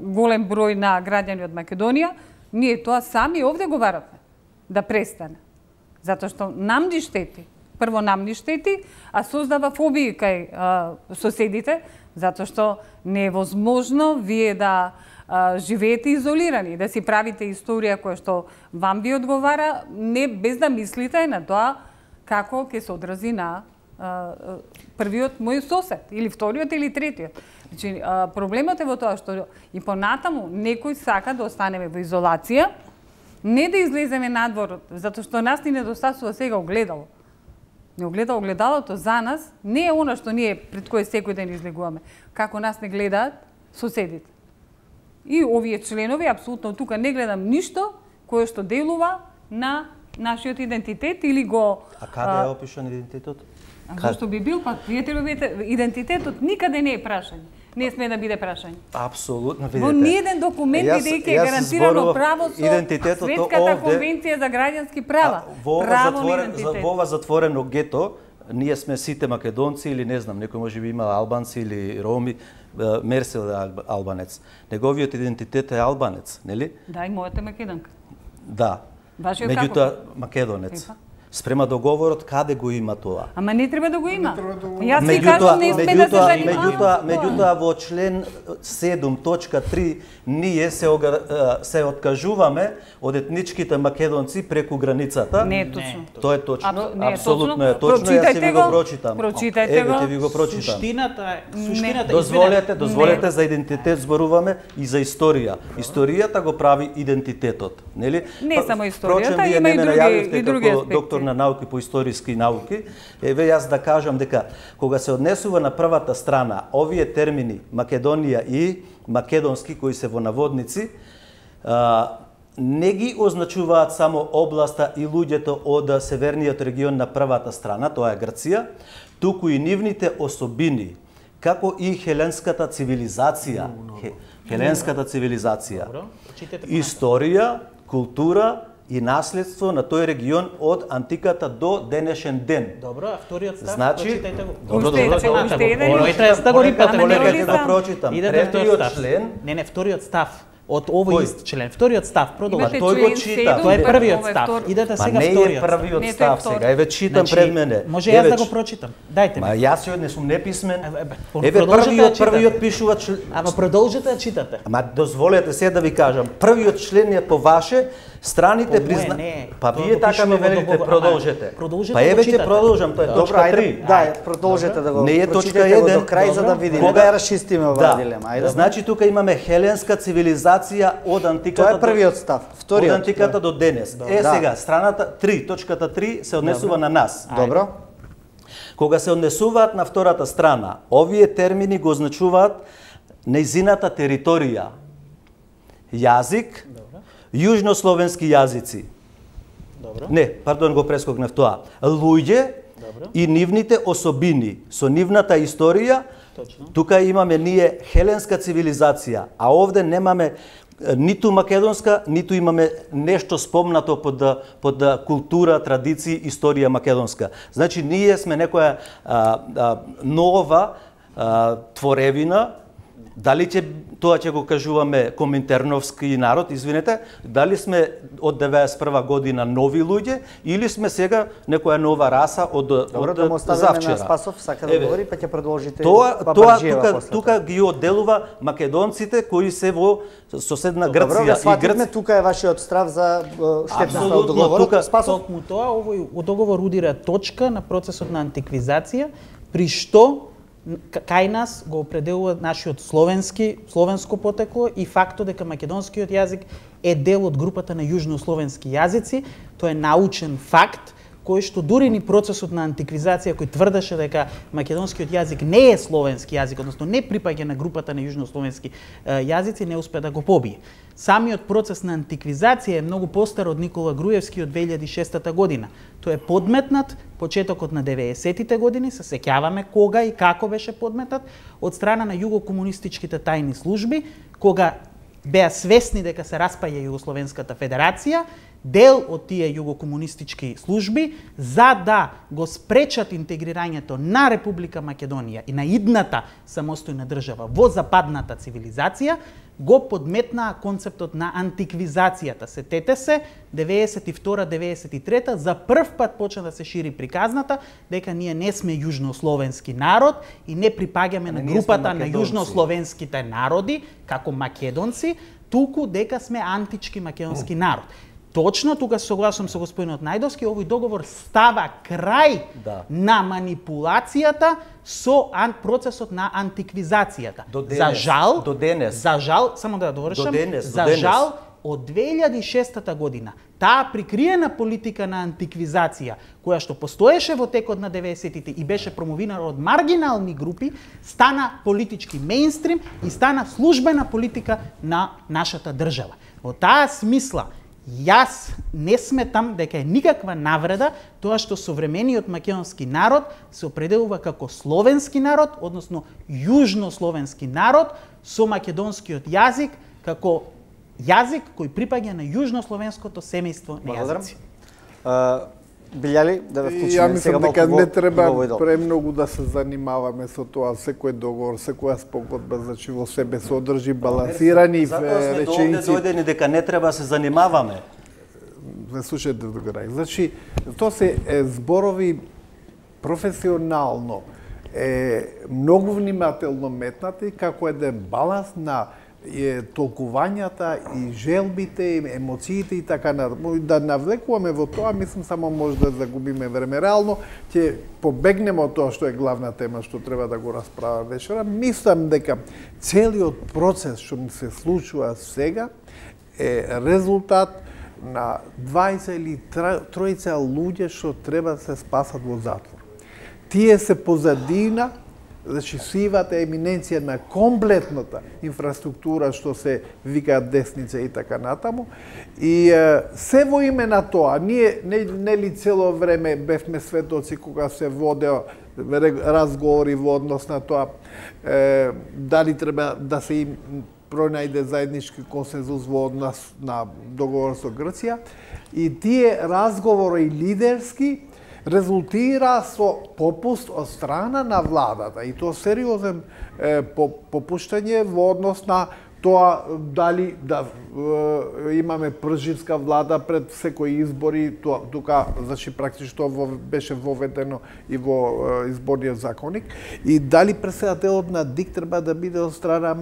голем број на граѓани од Македонија. Ние тоа сами овде го баравме да престане. Затоа што нам ни штети. Прво нам ни штети, а создава фобии кај соседите, затоа што не е возможно вие да живеете изолирани, да си правите историја која што вам ви одговара, не без да мислите на тоа како ќе се одрази на првиот мој сосед, или вториот, или третиот. Значи, проблемот е во тоа што и понатаму некој сака да останеме во изолација, не да излеземе надвор, затоа што нас ни недостасува сега огледало. Не огледалото за нас не е она што ние пред кое секој ден излегуваме, како нас не гледаат соседите. И овие членови, апсолутно тука не гледам ништо кое што делува на нашиот идентитет или го... А каде е опишан идентитетот? Зашто би бил пак? Идентитетот никаде не е прашање. Не сме да биде прашање. Апсолутно, видите. Во ниеден документ бидејќи е гарантирано право со Светската конвенција за граѓански права. Во ова затворено гето, ние сме сите македонци или не знам, некој може би има албанци или роми, Мерсел е албанец. Неговиот идентитет е албанец, нели? Да, и мојата македонка. Да. Вашиот меѓутоа македонец. Спрема договорот, каде го има тоа? Ама не треба да го има. Јас ви кажам, не сме да се занимаваме. Меѓутоа во член 7.3 ние се откажуваме од етничките македонци преку границата. Не е точно. Тоа е точно. Апсолутно е точно. Јас ќе ви го прочитам. Прочитајте го. Еве ќе ви го прочитам. Суштината Дозволете за идентитет зборуваме и за историја. Историјата го прави идентитетот, нели? Не само историјата, има и други аспекти. На науки по историски науки, еве јас да кажам дека кога се однесува на првата страна овие термини Македонија и македонски кои се во наводници, не ги означуваат само областа и луѓето од северниот регион на првата страна, тоа е Грција, туку и нивните особини, како и хеленската цивилизација. Хеленската цивилизација. Историја, култура и наследство на тој регион од антиката до денешен ден. Добро, а вториот став, прочитајте го. Добро, Да го рипате, да го прочитам. Третиот член. Не, вториот став. Од овој ист член. Вториот став, продолжи. Тој го чита. Тоа е првиот став. Идете сега вториот. Не е првиот став сега. Еве читам пред мене. Може јас да го прочитам. Дајте ми. Ма јас не сум неписмен. Еве првиот пишува член. Ама продолжете да читате. Ама дозволете се да ви кажам. Првиот член е по ваше, страните призна. Па вие така ми велите продолжете. Па еве ќе продолжам, тоа е точка 3. Да, продолжете да го. Не е точка 1 до крај за да видиме. Кога ја расчистиме оваа дилема. Ајде. Значи тука имаме хеленска цивилизација од антиката. Тоа е првиот став. Вториот. Од антиката до денес. Сега страната 3, точката 3 се однесува на нас. Добро. Кога се однесуваат на втората страна, овие термини го означуваат нејзината територија. Јазик, јужнословенски јазици. Добро. Не, пардон, го прескокнав тоа. Луѓе и нивните особини со нивната историја. Точно. Тука имаме ние хеленска цивилизација, а овде немаме ниту македонска, ниту имаме нешто спомнато под култура, традиции, историја македонска. Значи ние сме некоја нова творевина. Дали тоа ќе го кажуваме коминтерновски народ, извинете, дали сме од 91 година нови луѓе или сме сега некоја нова раса од завчера. На Спасов сака да говори, па ќе продолжите. Тоа тука ги одделува македонците кои се во соседна Грција и Грција. Тука е вашиот страв за штетноста од договорот. Спасов му тоа овој договор удира точка на процесот на антиквизација, при што кај нас го определува нашиот словенско потекло и фактот дека македонскиот јазик е дел од групата на јужнословенски јазици. Тоа е научен факт кој што дури ни процесот на антиквизација кој тврдеше дека македонскиот јазик не е словенски јазик, односно не припаѓа на групата на јужнословенски јазици, не успе да го побие. Самиот процес на антиквизација е многу постар од Никола Груевски од 2006 година. Тој е подметнат почетокот на 90-тите години, се сеќаваме кога и како беше подметнат од страна на југокомунистичките тајни служби, кога беа свесни дека се распаја Југословенската федерација, дел од тие југокомунистички служби, за да го спречат интегрирањето на Република Македонија и на идната самостојна држава во западната цивилизација, го подметнаа концептот на антиквизацијата. Сетете се, 92-93 за прв пат почна да се шири приказната дека ние не сме јужнословенски народ и не припаѓаме на групата на јужнословенските народи како македонци, туку дека сме антички македонски народ. Точно, тука се согласувам со господинот Најдовски, овој договор става крај на манипулацијата со процесот на антиквизацијата. За жал, само да довршам, за жал, од 2006 година, таа прикриена политика на антиквизација, која што постоеше во текот на 90-тите и беше промовирана од маргинални групи, стана политички мејнстрим и стана службена политика на нашата држава. Во таа смисла, јас не сметам дека е никаква навреда тоа што современиот македонски народ се определува како словенски народ, односно јужнословенски народ со македонскиот јазик како јазик кој припаѓа на јужнословенското семејство на јазици. Билјали, да ве вклучиме сега малку. Ја мислам дека не треба премногу да се занимаваме со тоа, секој договор, секоја спогодба, значи во себе содржи балансирани реченици. Затоа сме дојдени дека не треба се занимаваме. Не слушајте до крај. Значи, тоа се зборови професионално, многу внимателно метнати како еден баланс на толкувањата и желбите, емоциите и така натаму. Да навлекуваме во тоа, мислам само може да загубиме време. Реално ќе побегнеме од тоа што е главна тема што треба да го расправаме вечера. Мислам дека целиот процес што ни се случува сега е резултат на 20 или 30 луѓе што треба да се спасат во затвор. Тие се позадина, значи сивата еминенција на комплетната инфраструктура што се викаат десница и така натаму. И се во име на тоа, ние нели цело време бевме светоци кога се водеа разговори во однос на тоа дали треба да се им пронајде заеднички консензус во однос на договор со Грција. И тие разговори лидерски резултира со попуст од страна на владата и тоа сериозен попуштање во однос на тоа дали да имаме пржинска влада пред секои избори, тука значи практично беше воведено и во изборниот законник, и дали претседателот на ДИК треба да биде од страна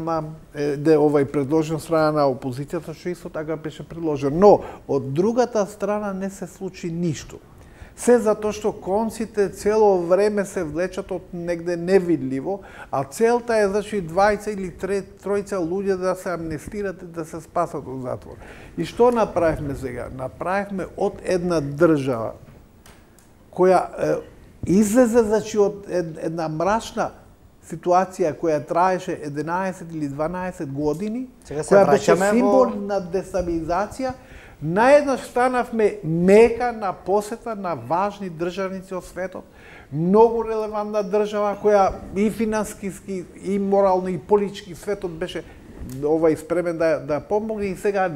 предложен од страна на опозицијата, што исто така беше предложен. Но од другата страна не се случи ништо. Се затоа што конците цело време се влечат од негде невидливо, а целта е значи 20 или 30 луѓе да се амнестират и да се спасат од затвор. И што направивме сега? Направивме од една држава која излезе значи од една мрачна ситуација која траеше 11 или 12 години, која беше символ на дестабилизација. Наеднаш станавме мека на посета на важни државници од светот, многу релевантна држава која и финансиски, и морално, и политички светот беше спремен да помогне, и сега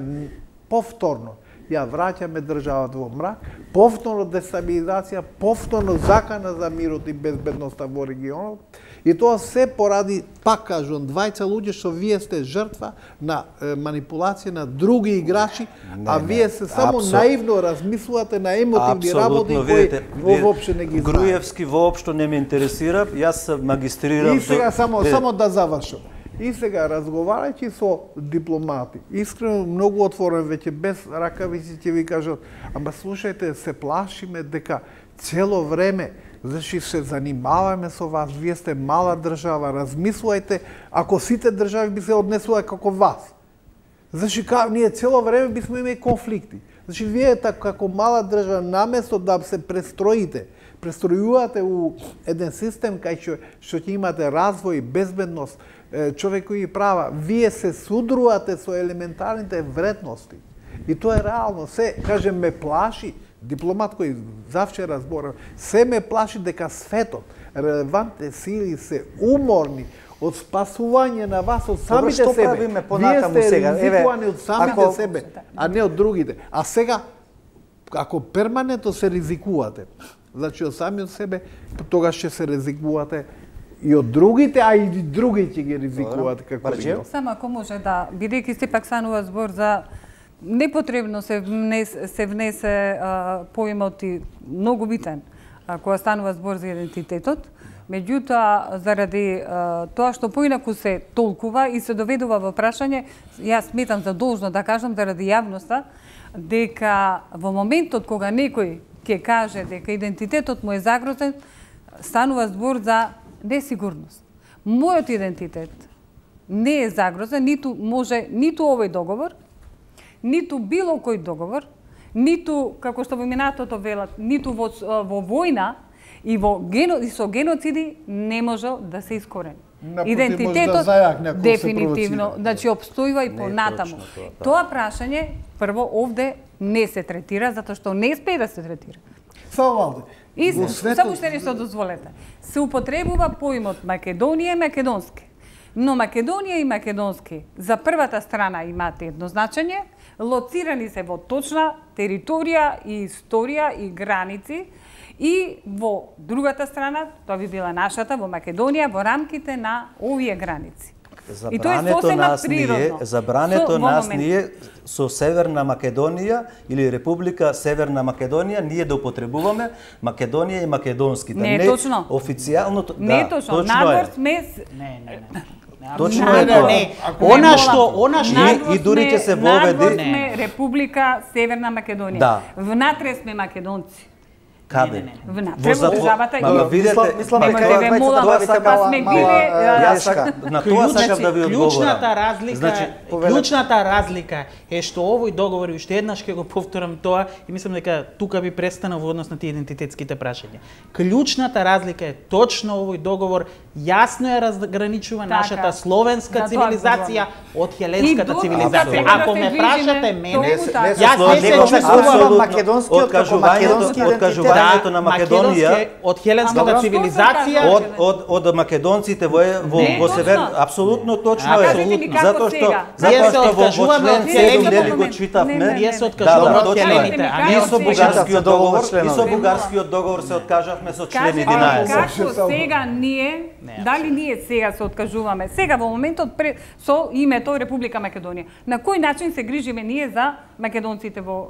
повторно ја враќаме државата во мрак, повторно дестабилизација, повторно закана за мирот и безбедноста во регионот. И тоа се поради, пак кажувам, 20 луѓе што вие сте жртва на манипулација на други играчи, а вие се само наивно размислувате на емотивни работи кои воопшто не ги знаат. Груевски воопшто не ме интересира, јас магистрирам. И сега само да завршам. И сега, разговарајќи со дипломати, искрено, многу отворен, веќе без ракавици ќе ви кажат, ама слушајте, се плашиме дека цело време, значи се занимаваме со вас, вие сте мала држава, размислувајте, ако сите држави би се однесувале како вас. Значи, ние цело време бисме имали конфликти. Значи, вие како мала држава, наместо да се престројувате у еден систем кај што ќе имате развој, безбедност, човекови права, вие се судрувате со елементарните вредности. И тоа е реално. Се, кажем, ме плаши, дипломат кој завчера зборав, се ме плаши дека светот, релевантните сили се уморни од спасување на вас од самите Што себе. правиме понатаму Вие сте сега? ризикувани од самите ако- себе, а не од другите. А сега, ако перманентно се ризикувате, значи од самиот себе, тогаш ќе се ризикувате и од другите, а и други ќе ги ризикувате како Барџиев? лино. Само ако може да, бидејќи сепак станува збор за непотребно се внесе поимот и многу битен кога станува збор за идентитетот. Меѓутоа, заради тоа што поинаку се толкува и се доведува во прашање, јас сметам за должно да кажам заради јавноста, дека во моментот кога некој ќе каже дека идентитетот му е загрозен, станува збор за несигурност. Мојот идентитет не е загрозен, ниту може, ниту овој договор, ниту било кој договор, ниту, како што во минатото велат, ниту во војна и со геноциди не може да се искорени. Напротив, Идентитетот може да зајак некој се дефинитивно, провоцира. значи обстојува и понатаму. Тоа прашање прво овде не се третира затоа што не спее да се третира. Само Валде, И во само што нешто дозволете. Се употребува поимот Македонија и македонски. Но Македонија и македонски за првата страна имаат едно значење, лоцирани се во точна територија и историја и граници, и во другата страна, тоа би била нашата, во Македонија, во рамките на овие граници. И тоа е сосема природно. Забрането Во нас момент. ние со Северна Македонија или Република Северна Македонија ние да употребуваме Македонија и македонски. Не е точно. Официјалното, Не е точно. Надвор сме Не. Точно е тоа. Не. Она што И дури ќе се воведи- Надвор сме Република Северна Македонија. Да. Внатре сме македонци. Каде? Внатре во државата и Ма видете, Мислам па дека Немојте тоа ве молам, добавите па сме мала биле, јашка. на тоа сакам да ви одговорам. Клучната разлика е што овој договор, и уште еднаш ќе го повторам тоа, и мислам дека тука би престанал во однос на тие идентитетските прашања. Клучната разлика е точно овој договор јасно е разграничува Така. нашата словенска За тоа цивилизација од хеленската И до- цивилизација. Апсолутно. Ако ме прашате мене, Толку така. јас не се Него чувствувам чувствувам македонскиот како македонски откажувањето на Македонија од хеленската Ама, цивилизација, што од македонците во Не, во север, точно. апсолутно точно А е. кажете ми како Затоа што сега? Ние се во откажуваме член од 7 хелените. нели го читавме. ние се Да, откажуваме од точно е. хелените, а не И од со сега. бугарскиот договор, членови. и со бугарскиот договор се откажавме со член Кажете ми 11. како сега ние, дали ние сега се откажуваме, сега во моментот со името Република Македонија. На кој начин се грижиме ние за македонците во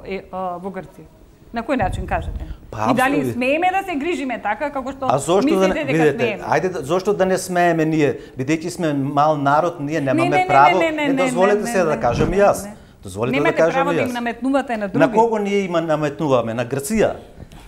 Грција? На кој начин кажете? Па, И дали апсолутно. смееме да се грижиме така како што А зошто да мислите не, дека видете, смееме? ајде зошто да не смееме ние, бидејќи сме мал народ, ние немаме не, право. не, Дозволете се да кажам и јас. не. Дозволете да Немате кажам право и да им јас. наметнувате на други. На кого ние има наметнуваме? На Грција?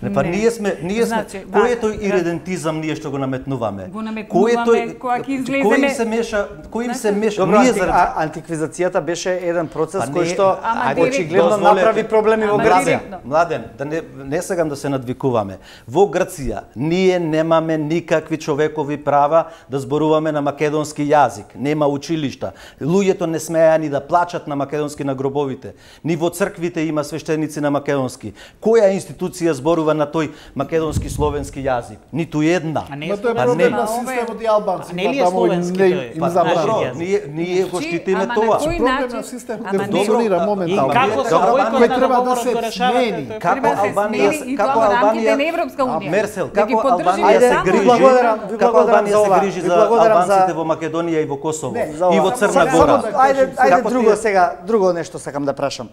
Па Не. ние сме Значи, кој е да, тој иридентизам ние што го наметнуваме? Го наметнуваме кога ќе излеземе- Кој им се меша? Кој им се меша? Добро, Ние заради антиквизацијата беше еден процес Па кој не, што ама очигледно дозволете. направи проблеми во Ама Грција. директно. Младен, да не сакам да се надвикуваме. Во Грција ние немаме никакви човекови права да зборуваме на македонски јазик. Нема училишта. Луѓето не смеа ни да плачат на македонски на гробовите. Ни во црквите има свештеници на македонски. Која институција зборува на тој македонски словенски јазик? Ниту една. А не Ма тоа е Па проблем не. на системот и албанци. А не ли е словенски тој? Им Па забрани. добро, јазик. ние го штитиме Ама на тоа. кој Проблем начин? на системот Ама да не- функционира Добро, моментално. И како со Добро, бојкот кој на треба да договорот се го решавате? смени. тој Како Треба се Албанија, смени и како тоа во рамките Албанија, на Европска унија. Мерсел, Да ги како поддржиме Албанија се само. грижи, Благодарам, ви како благодарам Албанија за ова. се грижи Ви за благодарам албанците за- во Македонија и во Косово Не, за и ова. во Црна Само Гора. да- Ајде Како друго тие- сега, друго нешто сакам да прашам.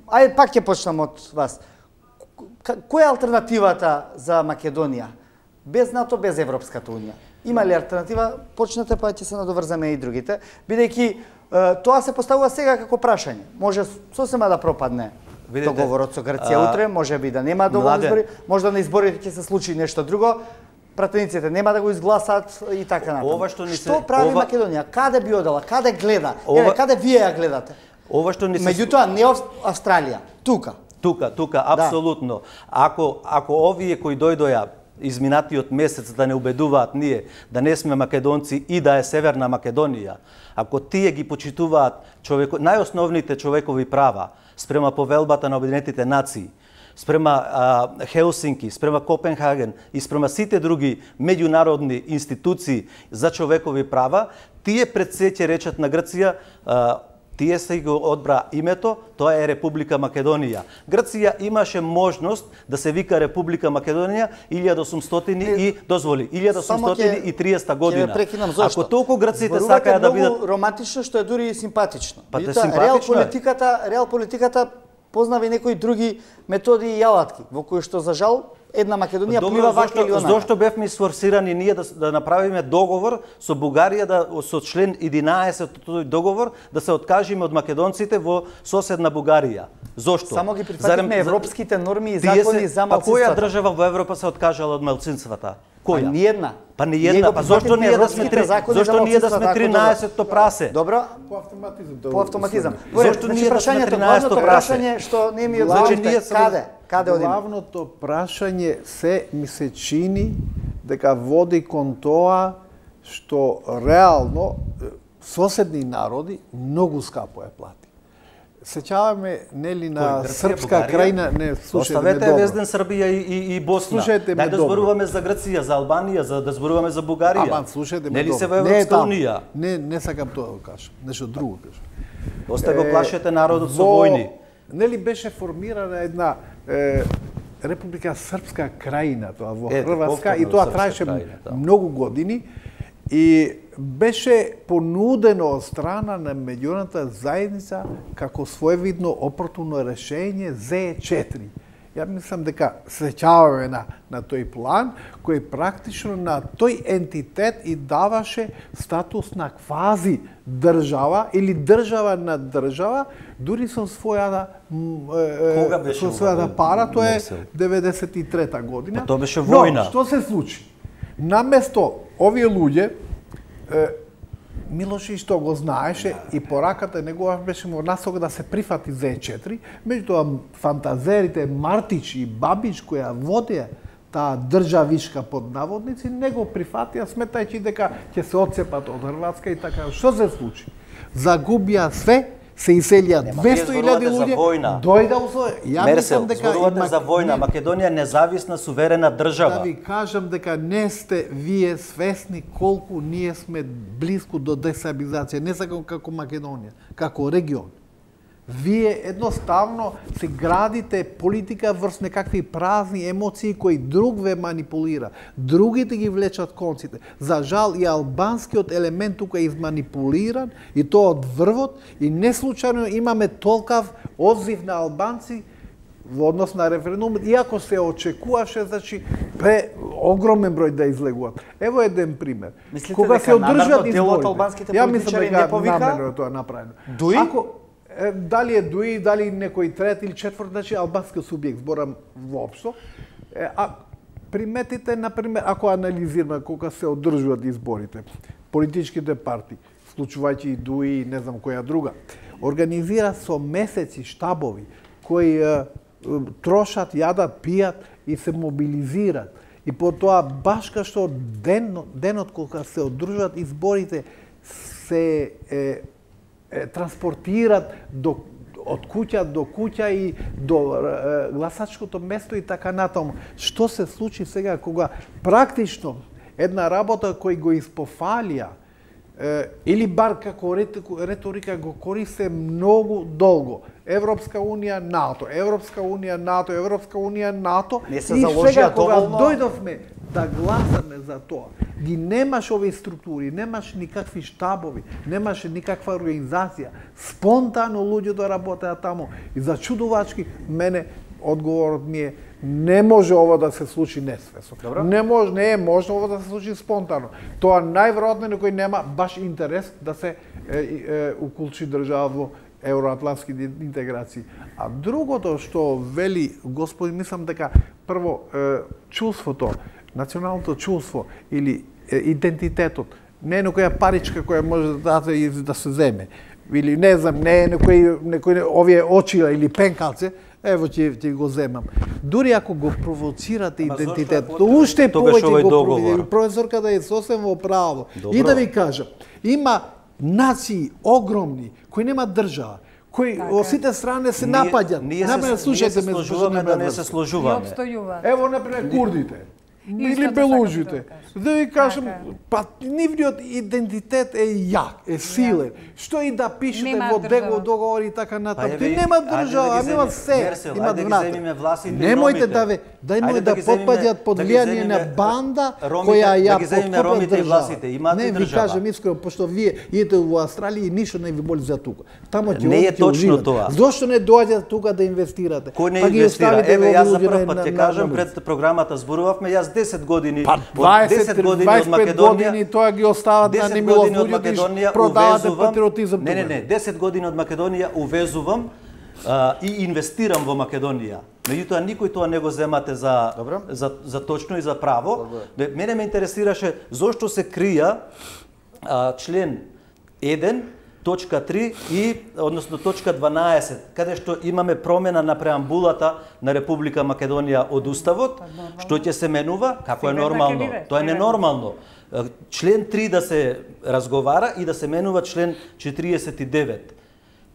Ајде пак ќе почнам од вас. Која е алтернативата за Македонија? Без НАТО, без Европската унија. Има ли алтернатива? Почнете па ќе се надоврзаме и другите, бидејќи тоа се поставува сега како прашање. Може сосема да пропадне Видите, договорот со Грција утре, може би да нема доволно Младен. избори, може да на изборите ќе се случи нешто друго. Пратениците нема да го изгласат и така натаму. Ова што ни се- Што прави ова- Македонија? Каде би одела? Каде гледа? Ова- Еве, каде вие ја гледате? Ова што ни се Меѓутоа не Австралија, тука. Тука, апсолутно. Ако овие кои дојдоја изминатиот месец да не убедуваат ние да не сме македонци и да е Северна Македонија, ако тие ги почитуваат најосновните човекови права спрема повелбата на Обединетите нации, спрема Хелсинки, спрема Копенхаген и спрема сите други меѓународни институции за човекови права, тие пред се ќе речат на Грција, тие се го одбра името, тоа е Република Македонија. Грција имаше можност да се вика Република Македонија 1800 и дозволи 1830 година. Ако толку грците сакаат да бидат романтично, што е дури и симпатично. Па да симпатично реал политиката познава и некои други методи и алатки, во кои што за жал една Македонија плива вака или онака. Зошто бевме сфорсирани ние да направиме договор со Бугарија, со член 11 од тој договор, да се откажиме од македонците во соседна Бугарија? Зошто? Само ги прифативме европските норми и закони за малцинствата. Па која држава во Европа се откажала од малцинствата? Која? Ниедна. Па ниедна. Па зошто ние да сме 13-то прасе? Добро. По автоматизам. Зошто ние да сме 13-то прасе? Што не ми одговорите каде одиме? Главното прашање се ми се чини дека води кон тоа што реално соседни народи многу скапо ја плати. Сеќаваме нели на српска крајна, не слушајте ме добро. Оставете Везден Србија и Босна. Слушајте ме добро. Да зборуваме за Грција, за Албанија, да зборуваме за Бугарија. Ама слушајте ме нели добро. се во Европска унија? Не сакам тоа да кажам, нешто друго кажам. Оста го плашете народот со војни. Нели беше формирана една Република Српска крајна, тоа во Хрватска, и тоа траеше многу години и беше понудено од страна на меѓународната заедница како своевидно опортуно решение ЗЕ4. Ја мислам дека сеќаваме на тој план, кој практично на тој ентитет и даваше статус на квази држава или држава на држава, дури со својата пара, тоа е 93-та година. Тоа беше војна. Но, што се случи? Наместо овие луѓе, Милоши што го знаеше и пораката негова беше во насока да се прифати ЗЕ4, меѓутоа фантазерите Мартич и Бабич која водеа таа државишка под наводници не го прифатија, сметајќи дека ќе се отцепат од Хрватска и така. Што се случи? Загубија све, се иселија 200.000 луѓе, дојда ја мислам дека зборувате за војна, Македонија независна суверена држава. Да ви кажам дека не сте вие свесни колку ние сме близко до дестабилизација, не само како Македонија, како регион. Вие едноставно се градите политика врз некакви празни емоции кои друг ве манипулира. Другите ги влечат конците. За жал и албанскиот елемент тука е изманипулиран и тоа од врвот и не случајно имаме толкав одзив на албанци во однос на референдумот, иако се очекуваше, значи, огромен број да излегуваат. Ево еден пример. Мислите кога дека намерно дел од албанските политичари не повика? Намерно тоа направено. Дуи? Дали е Дуи, дали некој трет или четврт, значи албанскиот субјект, зборам воопшто. Приметите, например, ако анализираме кога се одржуваат изборите, политичките партии, вклучувајќи и Дуи и не знам која друга, организира со месеци штабови кои трошат, јадат, пијат и се мобилизираат. И потоа, баш кај што денот кога се одржуваат изборите, се транспортират од куќа до куќа и до гласачкото место и така натаму. Што се случи сега кога практично една работа кој го испофалија или бар како реторика го користе многу долго. Европска унија, НАТО, Европска унија, НАТО, Европска унија, НАТО. Не се заложија доволно. Кога дојдовме да гласаме за тоа, ги немаш овие структури, немаш никакви штабови, немаше никаква организација. Спонтано луѓето работеа таму и зачудувачки мене одговорот ми е не може ова да се случи несвесно. Не е можно ова да се случи спонтано. Тоа најверојатно некој нема баш интерес да се укулчи држава во евроатлантски интеграции. А другото што вели господин, мислам дека прво чувството, националното чувство или идентитетот, не е некоја паричка која може да се земе. или не знам, не некој овие очила или пенкалце, ево ќе го земам. Дури ако го провоцирате идентитет, уште повеќе го провоцирате. Професорката е сосем во право. И да ви кажам, има нации огромни кои нема држава, кои во сите страни се напаѓаат. Например, слушајте ме, служуваме да не се сложуваме. Ево например курдите. Или белужите. Да ви кажам, па нивниот идентитет е јак, е силен. Што и да пишете во договори и така натаму. Нема држава, нема се. Има внатре. Немојте да потпаѓаат под влијание на банда која ја подкупува држава. Не, ви кажам искрено, пошто вие идете во Австралија и ништо не ви боли за тука. Тамо ќе не е точно тоа. Зошто не доаѓате тука да инвестирате? Кој не инвестира? Еве јас за прв пат ќе кажам пред програмата зборувавме, јас 10 години, 10 години од Македонија, тоа ги остават на немилост луѓе, продавате патриотизам. Не, 10 години од Македонија увезувам и инвестирам во Македонија. Меѓутоа никој тоа не го земате за точно и за право. Мене ме интересираше зошто се крија член 1 точка 3 и односно точка 12, каде што имаме промена на преамбулата на Република Македонија од Уставот, што ќе се менува, како е нормално. Тоа е ненормално. Член 3 да се разговара и да се менува член 49.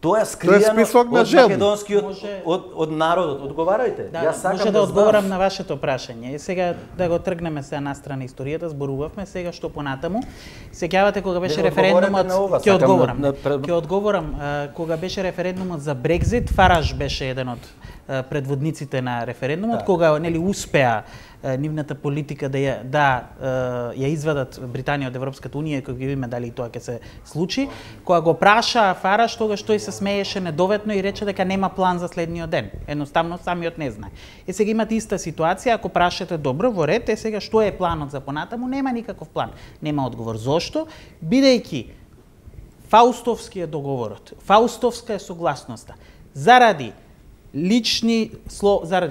Тоа е скријано од македонскиот од народот. Одговарајте. Јас сакам може да одговорам на вашето прашање. Сега да го тргнеме се на страна историјата, зборувавме сега што понатаму. Сеќавате кога беше референдумот, ќе одговорам, кога беше референдумот за Брекзит, Фараж беше еден од предводниците на референдумот, кога нели успеа нивната политика да ја извадат Британија од Европската унија, кога ги видиме дали тоа ќе се случи. Кога го праша Фараш, тогаш тој се смееше недоветно и рече дека нема план за следниот ден. Едноставно самиот не знае. Сега имате иста ситуација, ако прашате добро во ред, сега што е планот за понатаму? Нема никаков план. Нема одговор. Зошто? Бидејќи Фаустовски е договорот, Фаустовска е согласноста. Заради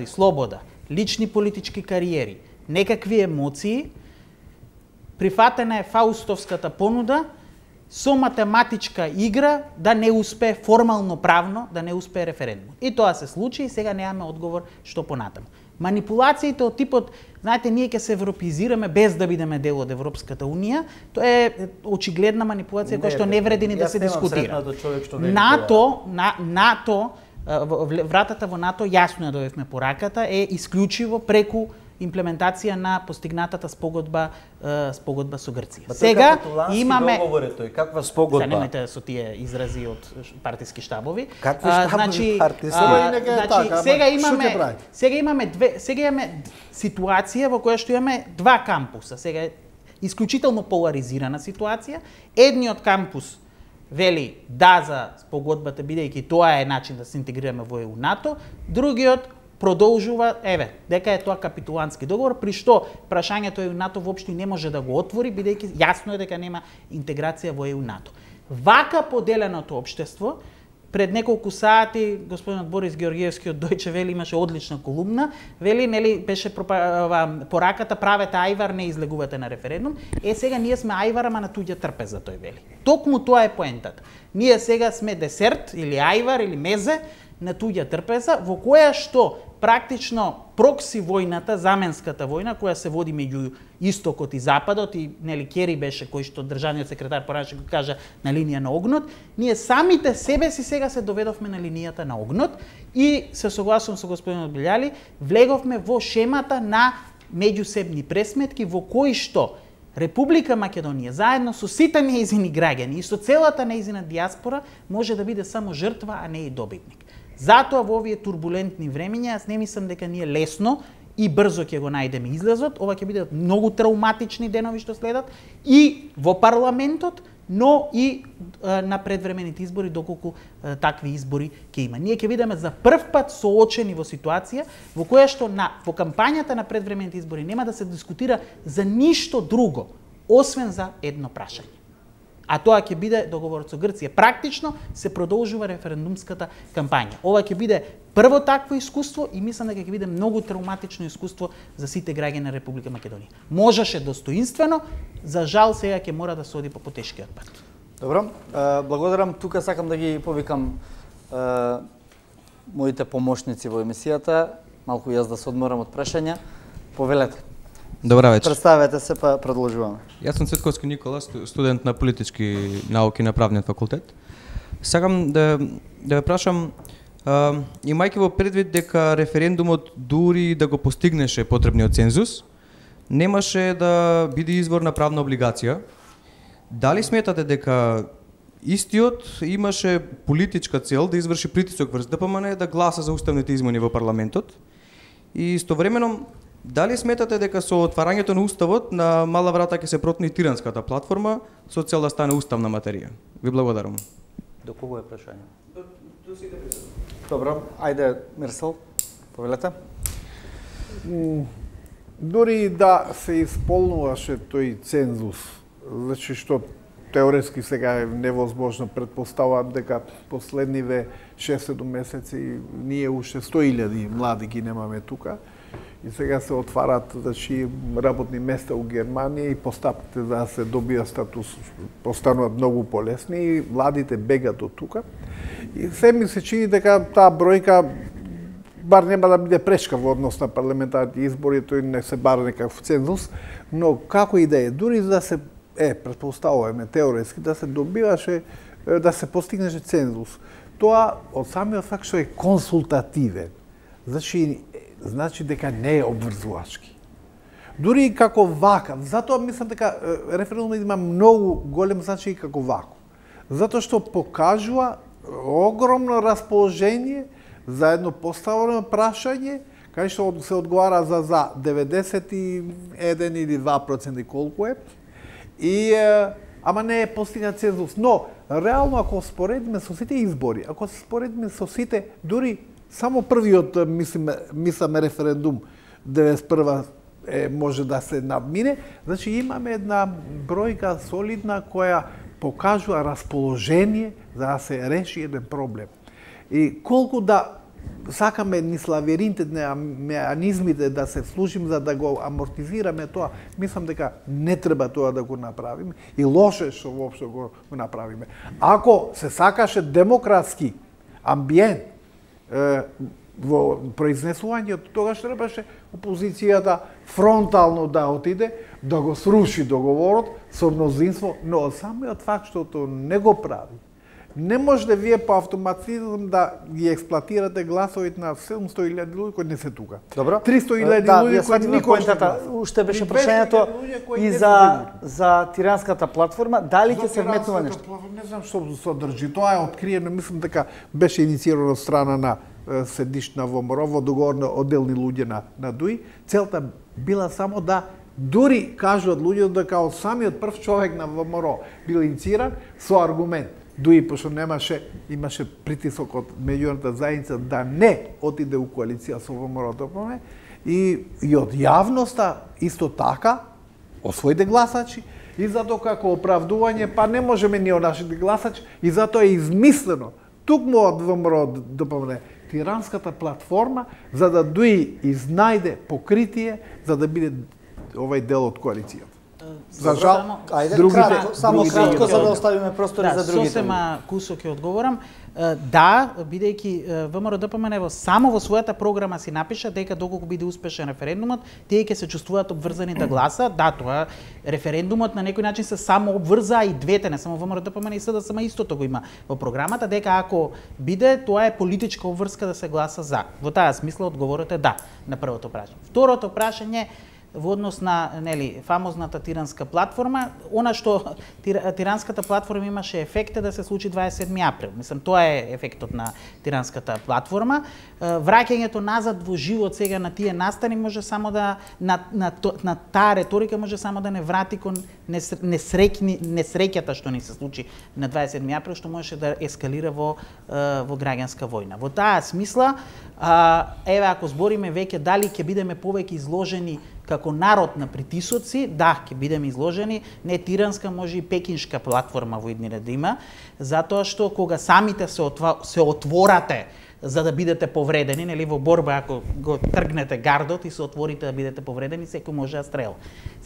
слобода, лични политички кариери, некакви емоции, прифатена е Фаустовската понуда со математичка игра да не успее формално правно, да не успее референдум. И тоа се случи и сега немаме одговор што понатаму. Манипулациите од типот, знаете, ние ќе се европеизираме без да бидеме дел од Европската унија, тоа е очигледна манипулација која што не вреди ни да се дискутира. НАТО, вратата во НАТО, јасно ја дојдовме пораката, е исклучиво преку имплементација на постигнатата спогодба со Грција. Сега имаме тој каква спогодба? Немајте со тие изрази од партиски штабови. Какви штабови партиски? Сега имаме ситуација во која што имаме два кампуса. Сега е исклучително поларизирана ситуација. Едниот кампус вели да за спогодбата, бидејќи тоа е начин да се интегрираме во ЕУ НАТО, другиот продолжува, дека е тоа капитулантски договор, при што прашањето ЕУ НАТО воопшто не може да го отвори, бидејќи јасно е дека нема интеграција во ЕУ НАТО. Вака поделеното општество, пред неколку сати господинот Борис Георгиевски од Дојче Вели имаше одлична колумна, вели, нели, беше пораката правете ајвар, не излегувате на референдум. Сега ние сме ајвар, ама на туѓа трпеза, тој вели. Токму тоа е поентата. Ние сега сме десерт или ајвар или мезе на туѓа трпеза, во која што практично прокси војната, заменската војна која се води меѓу истокот и западот, и нели Кери беше кој што државниот секретар пораче го кажа на линија на огнот, ние самите себе си сега се доведовме на линијата на огнот и се согласувам со господинот Билјали, влеговме во шемата на меѓусебни пресметки во кои што Република Македонија заедно со сите нејзини граѓани и со целата нејзина диаспора може да биде само жртва, а не и добитник. Затоа во овие турбулентни времиња јас не мислам дека ние лесно и брзо ќе го најдеме излезот. Ова ќе бидат многу травматични денови што следат и во парламентот, но и на предвремените избори, доколку такви избори ќе има. Ние ќе бидеме за прв пат соочени во ситуација во која што во кампањата на предвремените избори нема да се дискутира за ништо друго, освен за едно прашање. А тоа ќе биде договорот со Грција. Практично се продолжува референдумската кампања. Ова ќе биде прво такво искуство и мислам дека ќе биде многу травматично искуство за сите граѓани на Република Македонија. Можеше достоинствено, за жал сега ќе мора да се оди по потешкиот пат. Добро, благодарам. Тука сакам да ги повикам моите помошници во емисијата, малку јас да се одморам од прашања. Повелете. Добра вечер. Представете се, па продолжуваме. Јас сум Цветковски Никола, студент на политички науки на правниот факултет. Сакам да ве прашам, имајќи во предвид дека референдумот дури да го постигнеше потребниот цензус, немаше да биде извор на правна облигација. Дали сметате дека истиот имаше политичка цел да изврши притисок врз ДПМН да гласа за уставните измени во парламентот? И истовремено, дали сметате дека со отварањето на уставот на мала врата ќе се протни тиранската платформа со цел да стане уставна материја? Ви благодарам. До кого е прашање? До сите присутни. Добро, ајде Мирсел, повелете. Дури да се исполнуваше тој цензус, значи што теоретски сега е невозможно, предпоставувам дека последниве 6-7 месеци ние уште 100.000 млади ги немаме тука и сега се отварат, значи, работни места у Германија и постапките за да се добија статус постануваат многу полесни и младите бегат од тука. И се ми се чини дека таа бројка бар нема да биде пречка во однос на парламентарните избори, тој не се бара некаков цензус, но како и да е, дури за да се претпоставуваме теоретски да се добиваше, да се постигнеше цензус. Тоа од самиот факт што е консултативен, значи дека не е обврзувачки. Дури како вакав, затоа мислам дека референдумот има многу голем значај како ваков. Затоа што покажува огромно расположение за едно поставено прашање, кај што се одговара за 91 или 2% колку е, и ама не е постигнат цензус. Но, реално, ако споредиме со сите избори, ако се споредиме со сите, дури само првиот, мисламе референдум, 91 може да се надмине, значи имаме една бројка солидна која покажува расположение за да се реши еден проблем. И колку да сакаме низ лавиринтите на меанизмите да се служим за да го амортизираме тоа, мислам дека не треба тоа да го направиме и лоше што воопшто го направиме. Ако се сакаше демократски амбиент во произнесувањето, тогаш требаше опозицијата фронтално да отиде, да го сруши договорот со мнозинство, но самиот факт што тоа не го прави, не можете вие по автоматизм да ги експлоатирате гласовите на 700.000 луѓе кои не се тука. Добро. 300.000 луѓе кои никој не гласа. Уште беше прашањето и за тиранската платформа, дали ќе се вметнува нешто? Не знам што содржи. Тоа е откриено, мислам дека беше инициирано од страна на седиш на ВМРО, во договор на одделни луѓе на ДУИ. Целта била само да дури кажуваат луѓето дека од самиот прв човек на ВМРО бил иницииран со аргумент. ДУИ, пошто имаше притисок од меѓународната заедница да не отиде у коалиција со ВМРО-ДПМН и од јавноста исто така од своите гласачи и затоа како оправдување па не можеме ние од нашите гласачи и затоа е измислено тукму од ВМРО-ДПМН тиранската платформа за да ДУИ изнајде покритие за да биде овај дел од коалицијата. За жал, само кратко за да оставиме простори за другите. Сосема кусо ќе одговорам. Да, бидејќи ВМРО-ДПМН само во својата програма си напиша дека доколку биде успешен референдумот, тие ќе се чувствуваат обврзани да гласа. Да, тоа референдумот на некој начин се само обврза и двете, не само ВМРО-ДПМН и СДСМ истото го има во програмата, дека ако биде, тоа е политичка обврска да се гласа за. Во таа смисла одговорот е да на првото прашање. Второто прашање во однос на фамозната тиранска платформа, она што тиранската платформа имаше ефект да се случи 27 април. Мислам, тоа е ефектот на тиранската платформа. Враќањето назад во живот сега на тие настани може само да на таа реторика може само да не врати кон несреќата што ни се случи на 27 април, што можеше да ескалира во граѓанска војна. Во таа смисла, еве ако збориме веќе дали ќе бидеме повеќе изложени како народ на притисоци, да, ќе бидеме изложени, не тиранска, може и пекиншка платформа во иднина да има, затоа што кога самите се отворате за да бидете повредени, нели во борба ако го тргнете гардот и се отворите да бидете повредени, секој може да стрела.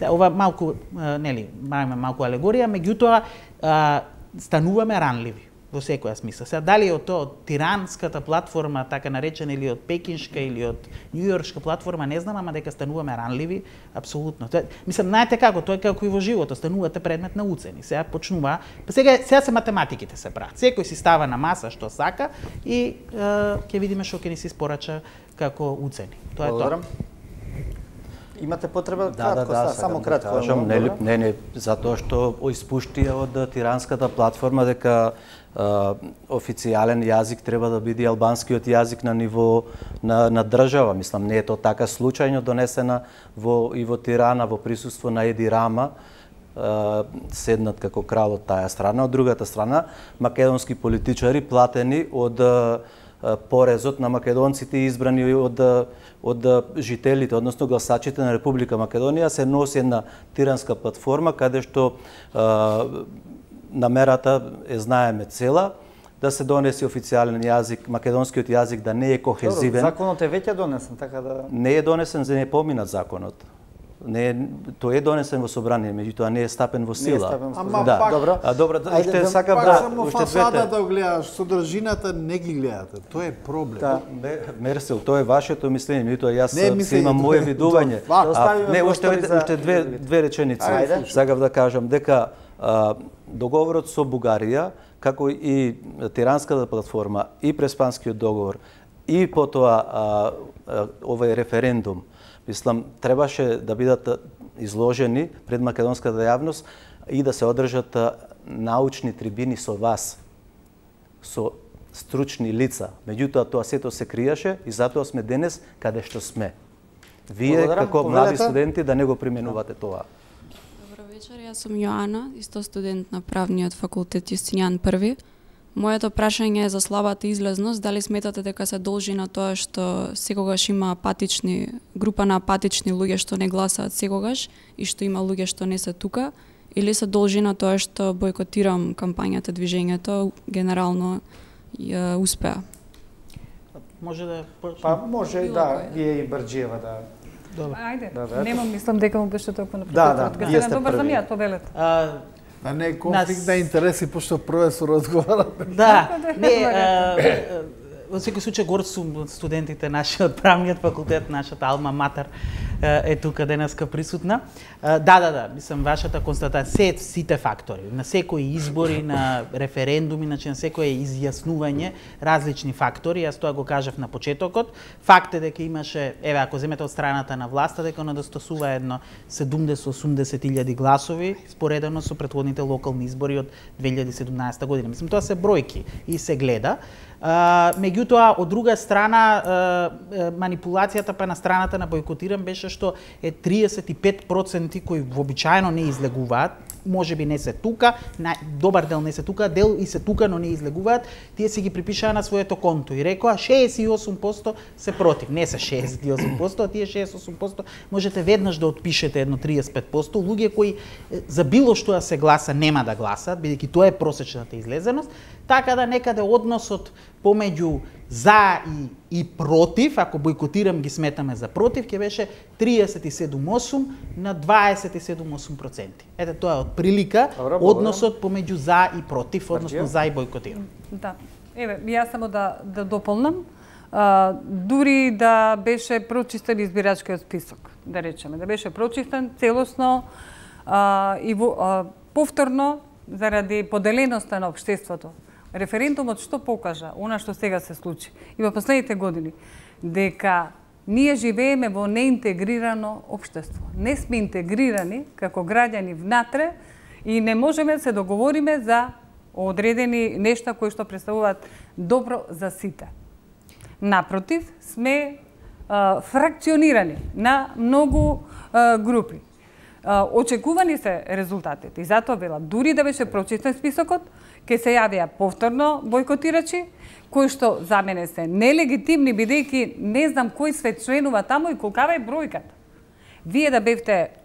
Ова малку, нели, малку алегорија, меѓутоа стануваме ранливи во секоја смисла. Сега дали од тоа од тиранската платформа, така наречена, или од пекиншка или од њујоршка платформа, не знам, ама дека стануваме ранливи, апсолутно. Мислам, знаете како, тоа е како и во животот, станувате предмет на уцени. Сега почнува, сега се математиките се прават. Секој си става на маса што сака и ќе видиме што ќе ни се испорача како уцени. Тоа е тоа. Имате потреба кратко, само кратко. Не, затоа што испуштија од тиранската платформа дека официјален јазик треба да биде албанскиот јазик на ниво на држава. Мислам, не е тоа така случајно донесена и во Тирана во присуство на Еди Рама, седнат како крал од таа страна. Од другата страна, македонски политичари платени од порезот на македонците избрани од жителите, односно гласачите на Република Македонија, се носи една тиранска платформа каде што намерата е знаеме цела, да се донесе официјален јазик, македонскиот јазик да не е кохезивен. Законот е веќе донесен, така да... Не е донесен за не поминат законот. Тој е донесен во собрание, меѓутоа не е стапен во сила. Ама пак, добро, уште сакам само фасадата гледаш, содржината не ги гледате. Тоа е проблем. Мерсел, тоа е вашето мислење, меѓутоа јас имам мое видување. Не, уште две реченици. Сакав да кажам дека договорот со Бугарија, како и Тиранската платформа, и Преспанскиот договор, и потоа овој референдум, мислам, требаше да бидат изложени пред македонската јавност и да се одржат научни трибини со вас, со стручни лица. Меѓутоа, тоа сето се криеше и затоа сме денес каде што сме. Вие, како млади студенти, да не го применувате тоа. Добро вечер, јас сум Јоана, исто студент на правниот факултет Јустинијан I. Моето прашање е за слабата излезност. Дали сметате дека се должи на тоа што секогаш има група на апатични луѓе што не гласаат секогаш и што има луѓе што не се тука, или се должи на тоа што бойкотирам кампањата, движењето, генерално успеа? Може да... може и да, вие и Брџиева да... Ајде, нема, мислам дека му беше толку на вие сте добар за први. мија, повелете. Не е конфликт на интереси, пошто професор разговарате. Да, во секој случај гор сум студентите нашиот правниот факултет, нашата алма матер е тука денеска присутна. Да, мислам вашата констатација, сите фактори, на секои избори, на референдуми, значи на секое изјаснување различни фактори, јас тоа го кажав на почетокот. Факт е дека имаше, ако земете од страната на власта, дека недостасува едно 70-80 гласови споредено со претходните локални избори од 2017 година. Мислам, тоа се бројки и се гледа. Меѓутоа, од друга страна, манипулацијата па на страната на бойкотирам беше што е 35% кои вообичаено не излегуваат, може би не се тука, добар дел не се тука, дел и се тука, но не излегуваат, тие си ги припишаа на своето конто и рекоа 68% се против. Не се 68%, а тие 68% можете веднаш да отпишете едно 35%. Луѓе кои за било што да се гласа нема да гласат, бидејќи тоа е просечната излезеност, така да некаде односот помеѓу за и против, ако бойкотирам ги сметаме за против, ќе беше 37,8 на 27,8%. Ете, тоа е од прилика односот помеѓу за и против, односно за и бойкотирам. Да. Еве, јас само да дополнам. Дури да беше прочистен избирачкиот список, да речеме, да беше прочистен целосно и повторно заради поделеноста на општеството. Референдумот што покажа, она што сега се случи и во последните години, дека ние живееме во неинтегрирано општество. Не сме интегрирани како граѓани внатре и не можеме да се договориме за одредени нешта кои што представуваат добро за сите. Напротив, сме фракционирани на многу групи. Очекувани се резултатите и затоа велам, дури да беше прочистен списокот, ќе се јавија повторно бойкотирачи, кои што за мене се нелегитимни, бидејќи не знам кој све членува таму и колкава е бројката. Вие да бевте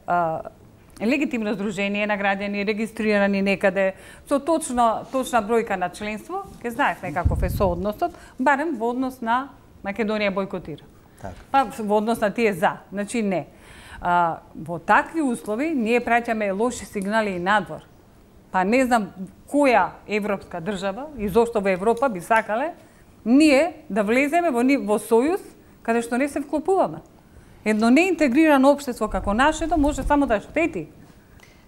легитимно здружение на граѓани, регистрирани некаде, со точна бројка на членство, ќе знаевме каков е соодносот, барем во однос на Македонија бойкотира. Па во однос на тие за, значи не. Во такви услови ние праќаме лоши сигнали и надвор. па не знам која европска држава и зошто во Европа би сакале ние да влеземе во сојуз каде што не се вклопуваме. Едно неинтегрирано општество како нашето може само да штети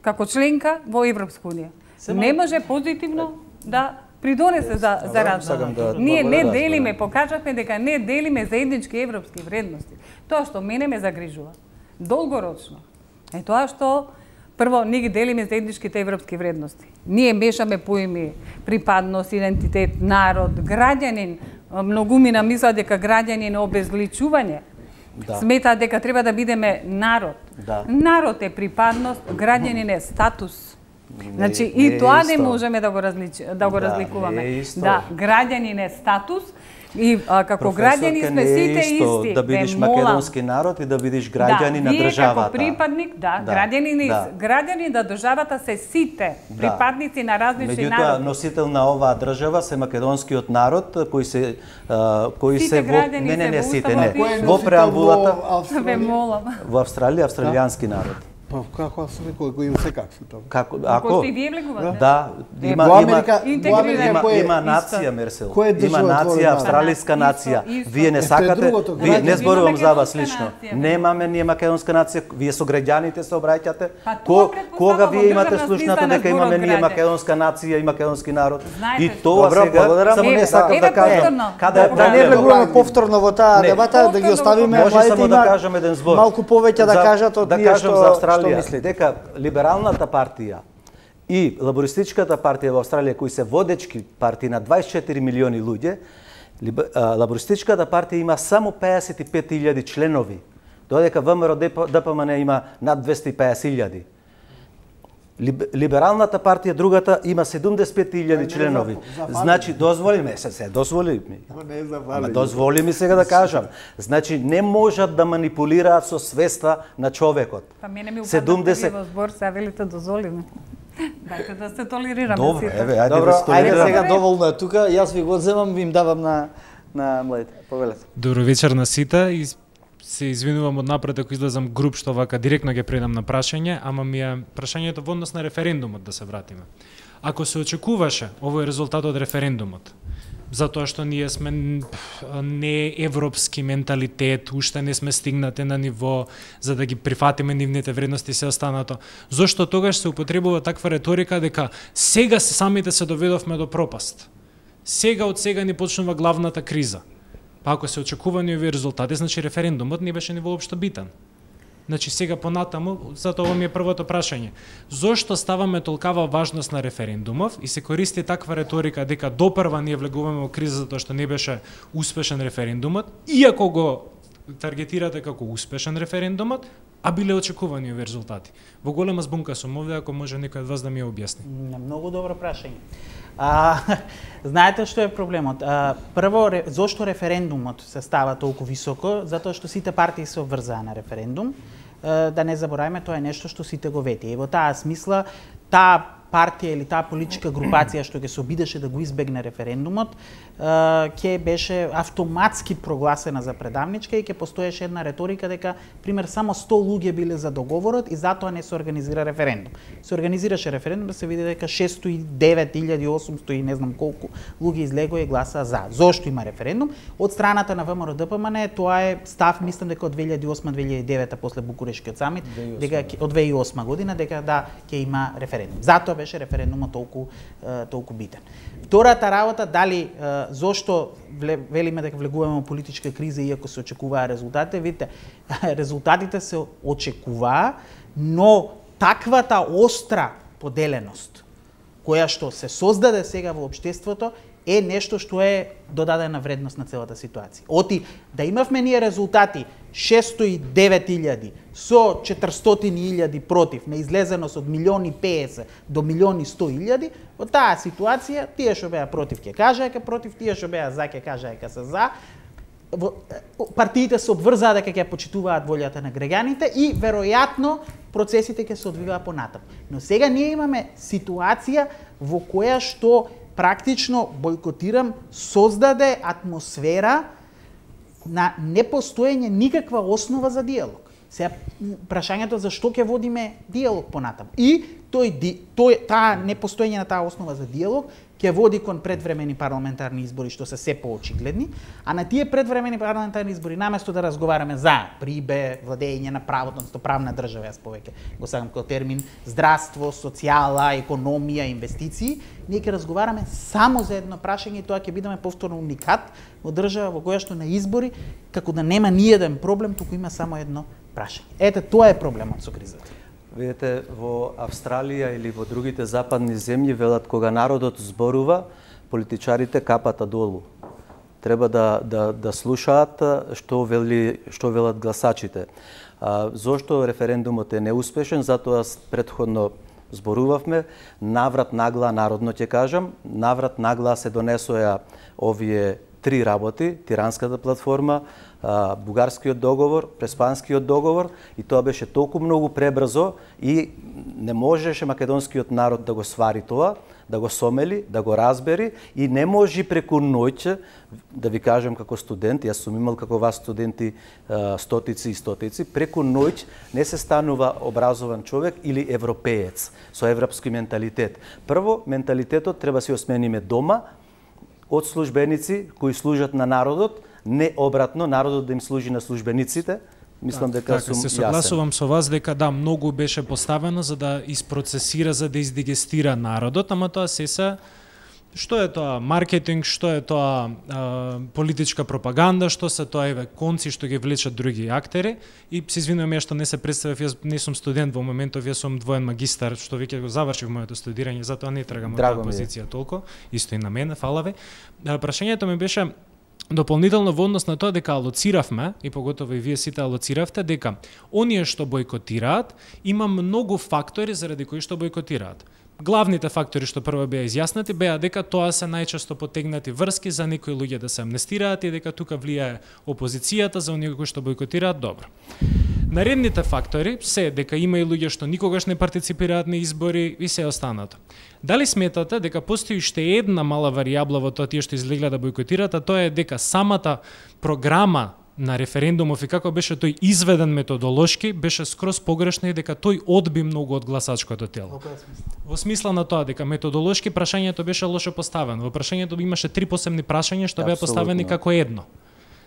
како членка во Европска унија. Не може позитивно да придонесе за развој. Ние не делиме, покажавме дека не делиме заеднички европски вредности. Тоа што мене ме загрижува долгорочно е тоа што прво ние ги делиме заедничките европски вредности. Ние мешаме поими припадност, идентитет, народ, граѓанин. Многумина мислат дека граѓанин е обезличување. Сметаат дека треба да бидеме народ. Народ е припадност, граѓанин е статус. Значи и тоа не можеме да го разликуваме. Да, граѓанин е статус и како граѓани сме сите исти. Да бидеш македонски народ и да бидеш граѓанин на државата. Како припадник, граѓани на државата се сите припадници на различни народи. Меѓутоа носител на оваа држава се македонскиот народ кои се не сите, во преамбулата во Австралија австралијански народ. Па како се рекол, кој им се как се тоа? Ако и вие влегувате? Да, има нација Мерсел. Има нација, австралиска нација. Вие не сакате, вие не зборувам за вас лично. Немаме ние македонска нација, вие со граѓаните се обраќате. Кога вие имате слушнато дека имаме ние македонска нација и македонски народ? И тоа сега само не сакам да кажам. Да не влегуваме повторно во таа дебата, да ги оставиме младите има малку повеќе да кажат од ние што мисли дека либералната партија и лабористичката партија во Австралија, кои се водечки партии на 24 милиони луѓе, лабористичката партија има само 55.000 членови, додека ВМРО ДПМН има над 250.000. Либералната партија, другата, има 75.000 членови. Значи, дозволи ми ми сега да кажам. Значи, не можат да манипулираат со свеста на човекот. Па мене ми упадна во збор, се велите дозволиме. Дајте да се толерираме. Добро, ајде сега доволно е тука, јас ви го земам, ви им давам на младите. Повелете. Добро вечер на сите и се извинувам од напред ако излезам груб што вака директно ги предам на прашање, ама ми е прашањето во однос на референдумот да се вратиме. Ако се очекуваше овој резултат од референдумот, затоа што ние сме не европски менталитет, уште не сме стигнати на ниво за да ги прифатиме нивните вредности и се останато, зошто тогаш се употребува таква реторика дека сега самите се доведовме до пропаст. Од сега ни почнува главната криза. Па ако се очекувани овие резултати, значи референдумот не беше ни воопшто битен. Значи сега понатаму, затоа ова ми е првото прашање. Зошто ставаме толкава важност на референдумов и се користи таква реторика дека допрва ние влегуваме во криза затоа што не беше успешен референдумот, иако го таргетирате како успешен референдумот, а биле очекувани овие резултати. Во голема збунка сум овде, ако може некој од вас да ми ја објасни. Многу добро прашање. Знаете што е проблемот? Прво, зошто референдумот се става толку високо? Затоа што сите партии се обврзаа на референдум. Да не забораваме, тоа е нешто што сите го вети. И во таа смисла, таа партија или таа политичка групација што ќе се обидеше да го избегне референдумот, ќе беше автоматски прогласена за предавничка и ќе постоеше една реторика дека, пример, само 100 луѓе биле за договорот и затоа не се организира референдум. Се организираше референдум да се види дека 609.800 и не знам колку луѓе излегоа и гласаа за. Зошто има референдум? Од страната на ВМРО ДПМН тоа е став, мислам дека од 2008-2009 после Букурешкиот самит, дека од 2008 година дека да ќе има референдум. Затоа беше референдумот толку битен. Втората работа, дали зошто велиме дека влегуваме во политичка криза иако се очекуваа резултатите, видите, резултатите се очекуваа, но таквата остра поделеност која што се создаде сега во општеството е нешто што е додадена вредност на целата ситуација. Оти да имавме ние резултати 609.000 со 400.000 против, на излезеност од 1.050.000 до 1.100.000, во таа ситуација тие што беа против ќе кажаа дека против, тие што беа за ќе кажаа дека се за. Партиите се обврзаа дека ќе почитуваат волјата на граѓаните и веројатно процесите ќе се одвиваат понатаму. Но сега ние имаме ситуација во која што практично бойкотирам создаде атмосфера на непостоење никаква основа за диалог. Сега прашањето за што ќе водиме диалог понатаму. И таа непостоење на таа основа за диалог ќе води кон предвремени парламентарни избори што се се поочигледни, а на тие предвремени парламентарни избори наместо да разговараме за прибе, владење на правото, односно правна држава, јас повеќе го сакам како термин, здравство, социјала, економија, инвестиции, ние ќе разговараме само за едно прашање и тоа ќе бидеме повторно уникат во држава во која што на избори како да нема ниеден проблем, туку има само едно прашање. Ете, тоа е проблемот со кризата. Видете, во Австралија или во другите западни земји велат кога народот зборува, политичарите капата долу. Треба да слушаат што велат гласачите. Зошто референдумот е неуспешен? Затоа претходно зборувавме, наврат нагла народно ќе кажам, наврат нагла се донесоа овие три работи, Тиранската платформа, Бугарскиот договор, Преспанскиот договор, и тоа беше толку многу пребрзо и не можеше македонскиот народ да го свари тоа, да го сомели, да го разбери и не може преку ноќ, да ви кажам како студент, јас сум имал како вас студенти стотици и стотици, преку ноќ не се станува образован човек или европеец со европски менталитет. Прво, менталитетот треба се осмениме дома, од службеници кои служат на народот, не обратно, народот да им служи на службениците. Мислам дека сум јасен. Се согласувам со вас дека да, многу беше поставено за да isprocesira, за да издигестира народот, ама тоа што е тоа маркетинг, што е тоа политичка пропаганда, што се тоа конци што ги влечат други актери. И се извинувам ја што не се представив, јас не сум студент во моментов, јас сум двоен магистар, што веќе го завршив моето студирање, затоа не трагам од таа позиција толку, исто и на мене, фала ви. Прашањето ми беше дополнително во однос на тоа дека алоциравме, и поготово и вие сите алоциравте, дека оние што бойкотираат, има многу фактори заради кои што бойкотираат. Главните фактори што прво беа изјаснати беа дека тоа се најчесто потегнати врски за некои луѓе да се амнестираат и дека тука влијае опозицијата за оние кои што бойкотираат, добро. Наредните фактори се дека има и луѓе што никогаш не партиципираат на избори и се останато. Дали сметате дека постои уште една мала варијабла во тоа тие што излегле да бойкотираат, а тоа е дека самата програма на референдумов и како беше тој изведен методолошки, беше скроз погрешно и дека тој одби многу од гласачкото тело. Во смисла на тоа дека методолошки прашањето беше лошо поставено. Во прашањето имаше три посебни прашања што беа поставени како едно.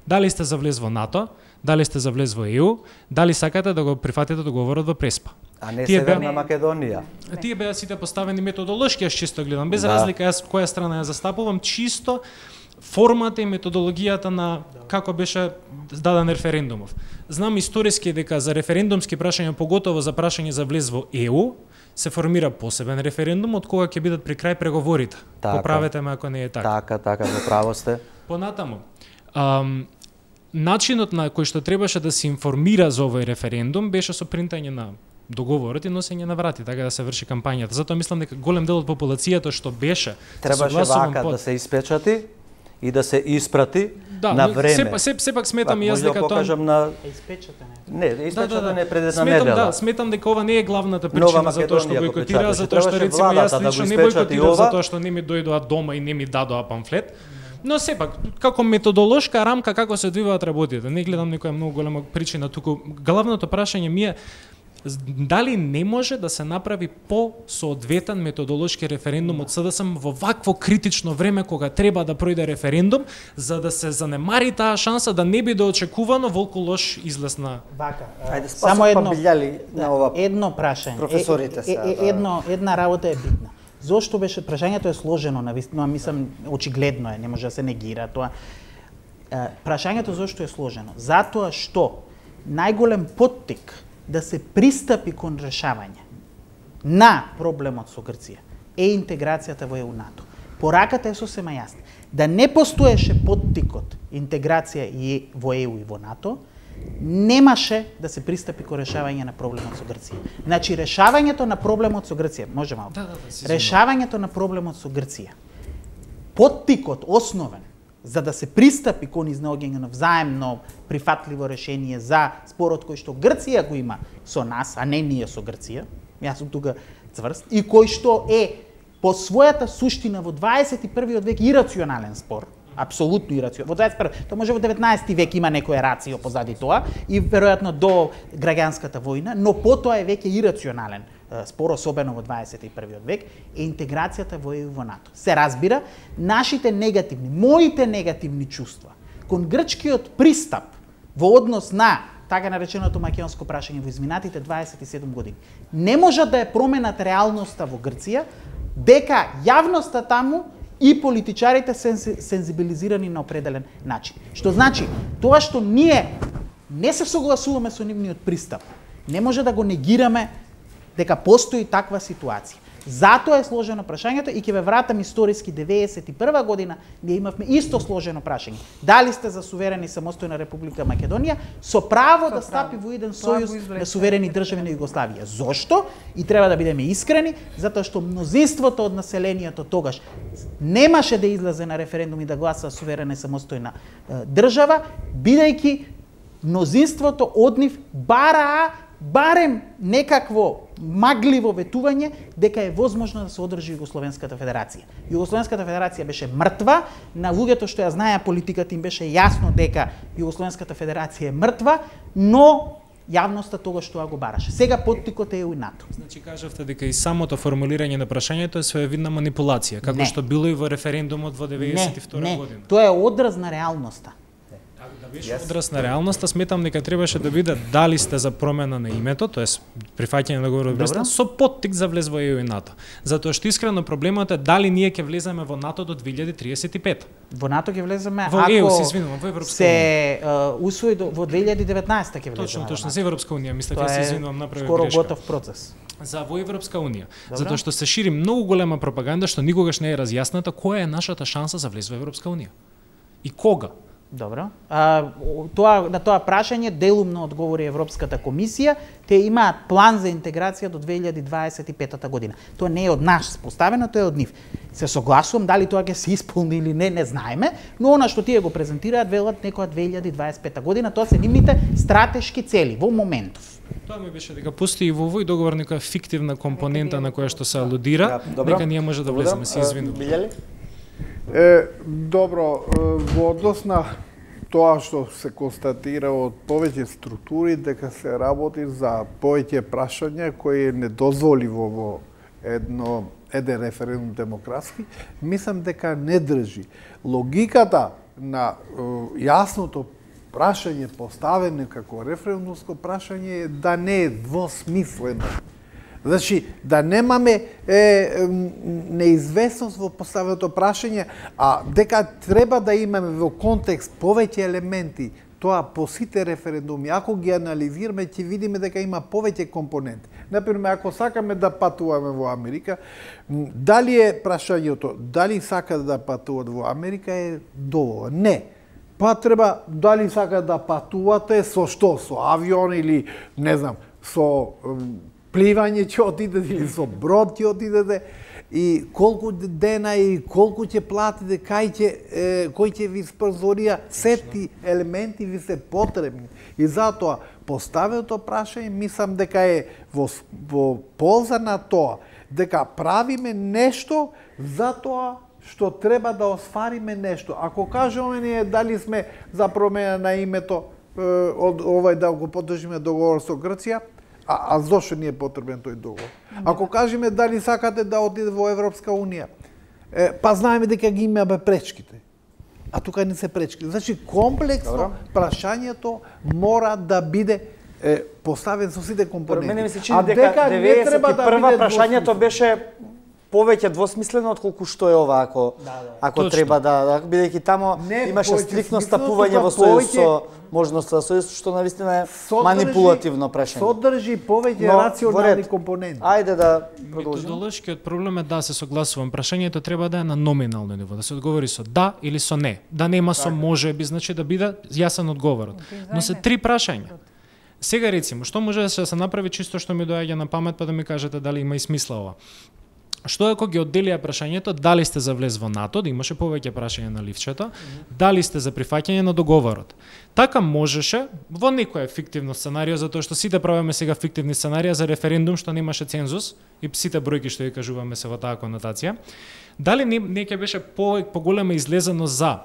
Дали сте за влез во НАТО, дали сте за влез во ЕУ, дали сакате да го прифатите договорот во Преспа. А не Северна Македонија. Тие беа сите поставени методолошки, јас чисто гледам, без разлика јас која страна ја застапувам, чисто формата и методологијата на како беше даден референдумов. Знам историски дека за референдумски прашања, поготово за прашање за влез во ЕУ, се формира посебен референдум од кога ќе бидат при крај преговорите. Поправете ме ако не е така. Така, во право сте. Понатаму, начинот на кој што требаше да се информира за овој референдум беше со принтање на договорот и носење на врати, така да се врши кампањата. Затоа мислам дека голем дел од популацијата што беше требаше вака да се испечати и да се испрати на време. Сепак сметам и јас дека тоа на испечатен е пред една недела. Да, сметам дека ова не е главната причина за тоа што бойкотира, затоа што рецимо јас лично не бойкотирав затоа што не ми дојдоа дома и не ми дадоа памфлет. Но сепак, како методолошка рамка како се одвиваат работите, не гледам некоја многу голема причина туку. Главното прашање ми е дали не може да се направи по-соодветен методолошки референдум од СДСМ во вакво критично време кога треба да пројде референдум, за да се занемари таа шанса да не биде очекувано волку лош излез на... Вака, само едно прашање. Професорите една работа е битна. Зошто беше прашањето е сложено, навистина, мислам очигледно е, не може да се негира тоа. Прашањето зошто е сложено? Затоа што најголем поттик да се пристапи кон решавање на проблемот со Грција е интеграцијата во ЕУ-НАТО. Пораката е сосема јасна. Да не постоеше поттикот интеграција и во ЕУ и во НАТО, немаше да се пристапи кон решавање на проблемот со Грција. Значи, решавањето на проблемот со Грција, може малку. Решавањето на проблемот со Грција. Поттикот основен за да се пристапи кон изнаоѓање на взаемно прифатливо решение за спорот кој што Грција го има со нас, а не ние со Грција. Јас сум тука цврст и кој што е по својата суштина во 21 век ирационален спор, Апсолутно ирационално. Во 21. Тоа може во 19 век има некоја рацио позади тоа и веројатно до граѓанската војна, но потоа е веќе ирационален спор, особено во 21 век, е интеграцијата во ЕУ во НАТО. Се разбира, нашите негативни, моите негативни чувства кон грчкиот пристап во однос на така нареченото македонско прашање во изминатите 27 години не можат да ја променат реалноста во Грција, дека јавноста таму и политичарите се сензибилизирани на определен начин. Што значи, тоа што ние не се согласуваме со нивниот пристап, не може да го негираме дека постои таква ситуација. Затоа е сложено прашањето и ќе ве вратам историски 91 година, ние имавме исто сложено прашање. Дали сте за суверена и самостојна Република Македонија со право да стапи во еден сојуз на суверени држави на Југославија. Зошто? И треба да бидеме искрени, затоа што мнозинството од населението тогаш немаше да излезе на референдум и да гласа суверена и самостојна држава, бидејќи мнозинството од нив барем некакво магливо ветување дека е возможно да се одржи Југословенската федерација. Југословенската федерација беше мртва, на луѓето што ја знаеа политиката им беше јасно дека Југословенската федерација е мртва, но јавноста тогаш тоа го бараше. Сега поттикот е ЕУ и НАТО. Значи кажавте дека и самото формулирање на прашањето е своевидна манипулација, како што било и во референдумот во 92 година. Тоа е одраз на реалноста. Беше одраз на реалноста, сметам дека требаше да биде дали сте за промена на името, тоест прифаќање на договорот Брестон, со поттик за влез во ЕУ и НАТО. Затоа што искрено проблемот е дали ние ќе влеземе во НАТО до 2035. Во НАТО ќе влеземе во ЕУ, се извинувам, во Европска се усвои во 2019 ќе влеземе. Точно, за Европска унија, мислам дека се извинувам, направив скоро грешка. Готов процес. За во Европска унија, затоа што се шири многу голема пропаганда што никогаш не е разјасната која е нашата шанса за влез во Европска унија. И кога? Добро. На тоа прашање делумно одговори Европската комисија. Те имаат план за интеграција до 2025 година. Тоа не е од нас поставено, тоа е од нив. Се согласувам, дали тоа ќе се исполни или не знаеме, но она што тие го презентираат велат некоја 2025 година, тоа се нивните стратешки цели во моментов. Тоа ми беше дека постои во овој договор некоја фиктивна компонента на која што се алудира, дека ние може да влеземе, се извинувам. Добро, во однос на тоа што се констатира од повеќе структури дека се работи за повеќе прашања кои е недозволиво во еден референдум демократски, мислам дека не држи. Логиката на јасното прашање поставено како референдумско прашање е да не е двосмислено. Значи, да немаме неизвестност во поставеното прашање, а дека треба да имаме во контекст повеќе елементи, тоа по сите референдуми, ако ги анализираме, ќе видиме дека има повеќе компоненти. Например, ако сакаме да патуваме во Америка, дали е прашањето, дали сакат да патуват во Америка е доволно? Не. Па треба, дали сакат да патувате со што? Со авион или, не знам, со пливање ќе отидете или со брод ќе отидете и колку дена и колку ќе платите, кој ќе ви спонзорира, сети елементи ви се потребни. И затоа поставеното прашање мислам дека е во полза на тоа, дека правиме нешто за тоа што треба да освариме нешто. Ако кажеме ние дали сме за промена на името од овој да го поддржиме договор со Грција, а зошто ни е потребен тој договор? Ако кажеме дали сакате да одиде во Европска унија, па знаеме дека ги имаме пречките. А тука не се пречки. Значи комплексно прашањето мора да биде поставен со сите компоненти. Мене ми се чини дека 91 прашањето беше повеќе двосмислено отколку што е ова ако треба да бидејќи тамо имаше стриктно стапување во сојуз со можноста за сојуз што навистина е манипулативно прашање. Содржи повеќе рационални компоненти. Ајде да продолжиме. Методолошкиот проблем е да се согласувам. Прашањето треба да е на номинално ниво, да се одговори со да или со не. Да нема со може би, значи да биде јасен одговорот. Но се три прашања. Сега рецимо, што може да се направи чисто што ми доаѓа на памет па да ми кажете дали има и смисла ова. Што ако ги одделија прашањето дали сте за влез во НАТО, да имаше повеќе прашања на ливчето, дали сте за прифаќање на договорот. Така можеше во некој фиктивно сценарио, затоа што сите правиме сега фиктивни сценарија за референдум што немаше цензус и сите бројки што ги кажуваме се во таа конотација. Дали не ќе беше поголема излезеност за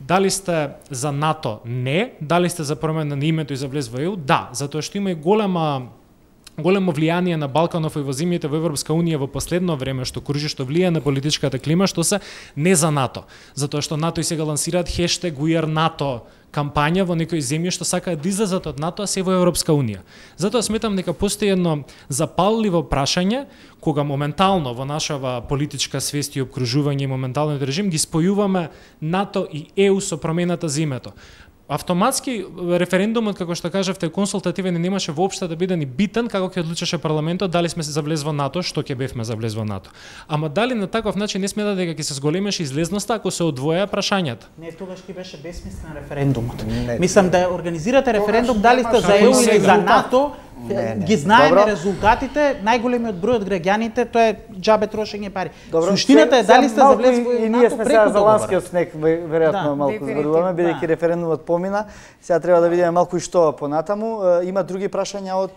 Дали сте за НАТО? Не. Дали сте за промена на името и за влез во ЕУ? Да, затоа што има и големо влијание на Балканов и во земјите во Европска Унија во последно време што кружи, што влијае на политичката клима, што се не за НАТО. Затоа што НАТО и сега лансираат хештег We are NATO кампања во некои земји што сакаат да излезат од НАТО, а се во Европска Унија. Затоа сметам дека постои едно запалливо прашање кога моментално во нашава политичка свест и обкружување и моменталниот режим ги спојуваме НАТО и ЕУ со промената за името. Автоматски референдумот, како што кажавте, консултативен и немаше воопшто да биде ни битен како ќе одлучеше парламентот дали сме за влез во НАТО, што ќе бевме за влез во НАТО. Ама дали на таков начин не смета дека ќе се зголемеше излезноста ако се одвоја прашањата? Не, тогаш ќе беше бесмислен референдумот. Мислам да организирате референдум дали сте за ЕУ или за НАТО. Ги знаеме резултатите, најголемиот број од граѓаните, тоа е џабе трошење пари. Суштината е дали сте за влез во НАТО. И ние сме сега за ланскиот снег, веројатно малку зборуваме, бидејќи референдумот помина. Сега треба да видиме малку и што понатаму. Има други прашања од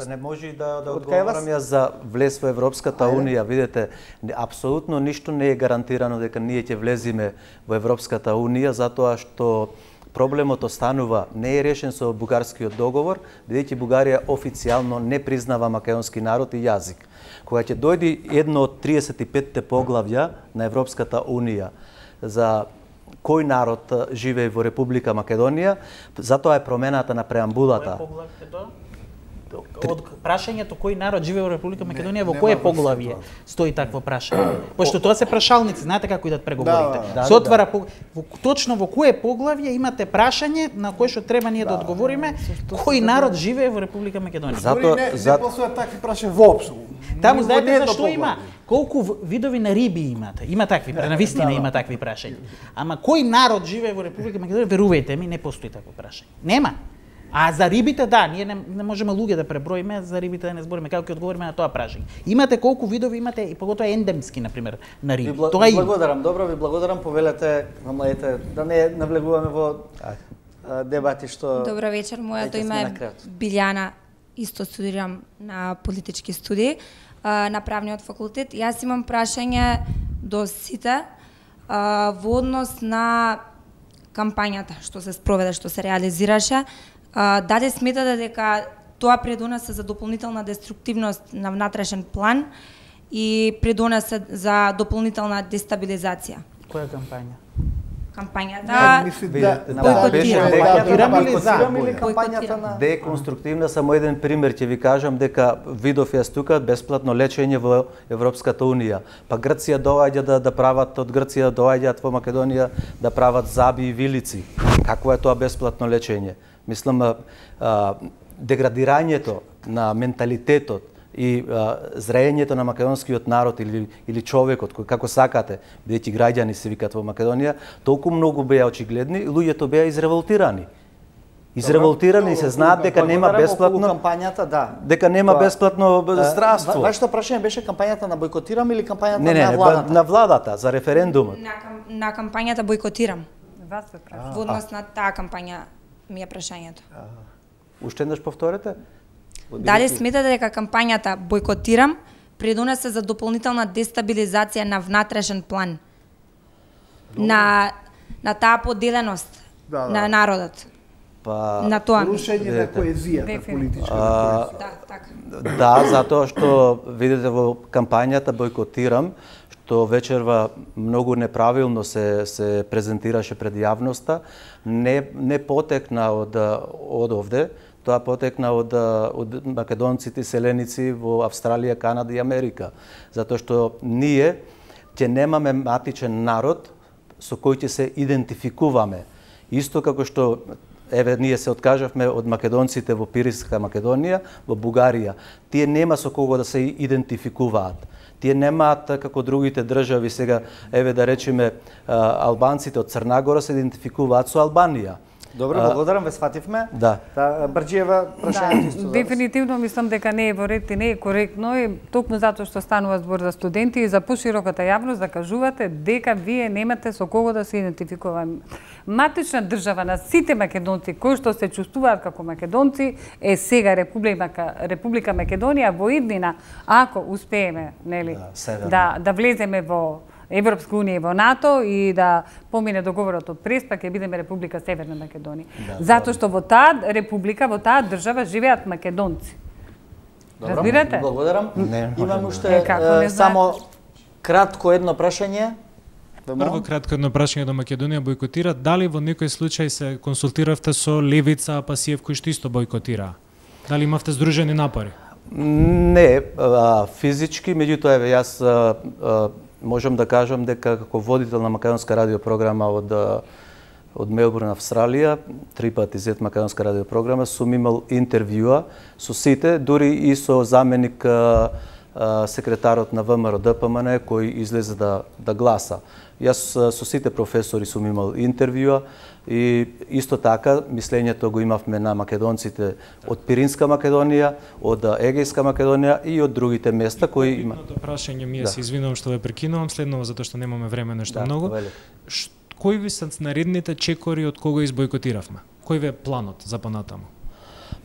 не може да одговорам ја за влез во Европската Унија. Видете, апсолутно ништо не е гарантирано дека ние ќе влеземе во Европската Унија, затоа што проблемот останува, не е решен со бугарскиот договор, бидејќи Бугарија официјално не признава македонски народ и јазик. Кога ќе дојде едно од 35-те поглавја на Европската Унија за кој народ живее во Република Македонија, затоа е промената на преамбулата. Од прашањето кој народ живее во Република Македонија, во кое поглавје стои такво прашање? Пошто тоа се прашалници, знаете како идат преговорите. Се отвара точно во кое поглавје имате прашање на кое што треба ние да одговориме кој народ живее во Република Македонија. Затоа не постојат такви прашања воопшто. Таму знаете зашто има? Колку видови на риби имате? Има такви, навистина има такви прашања. Ама кој народ живее во Република Македонија, верувајте ми, не постои такво прашање. Нема. А за рибите, да, ние не можеме луѓе да преброиме, за рибите да не збориме, како ќе одговориме на тоа прашање. Имате колку видови имате, и поготоа ендемски, например, на риби. Тоа има. Благодарам, добро ви благодарам, повелете на младите да не навлегуваме во дебати што... Добро вечер, моето име е Билјана, исто студирам на политички студии на правниот факултет. Јас имам прашање до сите во однос на кампањата што се спроведе, што се реализираше. Дали сметате дека тоа предонесе за дополнителна деструктивност на внатрешен план и предонесе за дополнителна дестабилизација? Која кампања? Кампањата деконструктивна. Само еден пример ќе ви кажам дека видов јас тука бесплатно лечење во Европската Унија. Па Грција доаѓа да прават, од Грција доаѓаат во Македонија да прават заби и вилици. Какво е тоа бесплатно лечење? Мислам, деградирањето на менталитетот и зрејењето на македонскиот народ или човекот, како сакате, бидејќи граѓани се викат во Македонија, толку многу беа очигледни, луѓето беа изреволтирани. Изреволтирани, се знаат дека нема бесплатно кампањата, да. Дека нема бесплатно здравство. Вашето прашање беше кампањата на бойкотирам или кампањата на владата? Не, на владата за референдумот. На кампањата бойкотирам. Вас се праша. Во однос на таа кампања ми е прашањето. Уште еднаш повторете? Дали сметате дека кампањата бойкотирам предонесе за дополнителна дестабилизација на внатрешен план? На таа поделеност на народот? Па, на тоа рушење на коезијата политичка. Да, така. Да, затоа што видите во кампањата бойкотирам, што вечерва многу неправилно се презентираше пред јавноста, не потекна од овде, тоа потекна од македонците селеници во Австралија, Канада и Америка, затоа што ние ќе немаме матичен народ со кој ќе се идентификуваме. Исто како што ние се откажавме од македонците во Пиринска Македонија, во Бугарија. Тие нема со кого да се идентификуваат. Тие немаат како другите држави сега, да речеме, албанците од Црнагора се идентификуваат со Албанија. Добро, благодарам, ве сфативме. Да. Брџиева, прашањето исто. Дефинитивно мислам дека не е во ред и не е коректно и токму затоа што станува збор за студенти и за пошироката јавност да кажувате дека вие немате со кого да се идентификуваме. Матична држава на сите македонци кои што се чувствуваат како македонци е сега Република Македонија во иднина, ако успееме, нели, да влеземе во Европска унија и во НАТО и да помине договорот од Прест, па ќе бидеме Република Северна Македонија. Затоа што во таа република, во таа држава живеат македонци. Разбирате? Благодарам. Имам уште само кратко едно прашање. Прво кратко едно прашање до Македонија бојкотира. Дали во некој случај се консултиравте со Левица, Апасиев, кои што исто бојкотира? Дали имавте здружени напори? Не, физички, меѓутоа јас можам да кажам дека како водител на македонска радиопрограма од Мелбурн, Австралија, 3 пати зет македонска радиопрограма, сум имал интервјуа со сите, дури и со заменик секретарот на ВМРО ДПМН кој излезе да гласа. Јас со сите професори сум имал интервјуа и исто така мислењето го имавме на македонците од Пиринска Македонија, од Егејска Македонија и од другите места кои има. Едното прашање ми се извинувам што ве прекинувам, следново затоа што немаме време нешто многу. Кои ви се наредните чекори од кого избојкотиравме? Кој ви е планот за понатаму?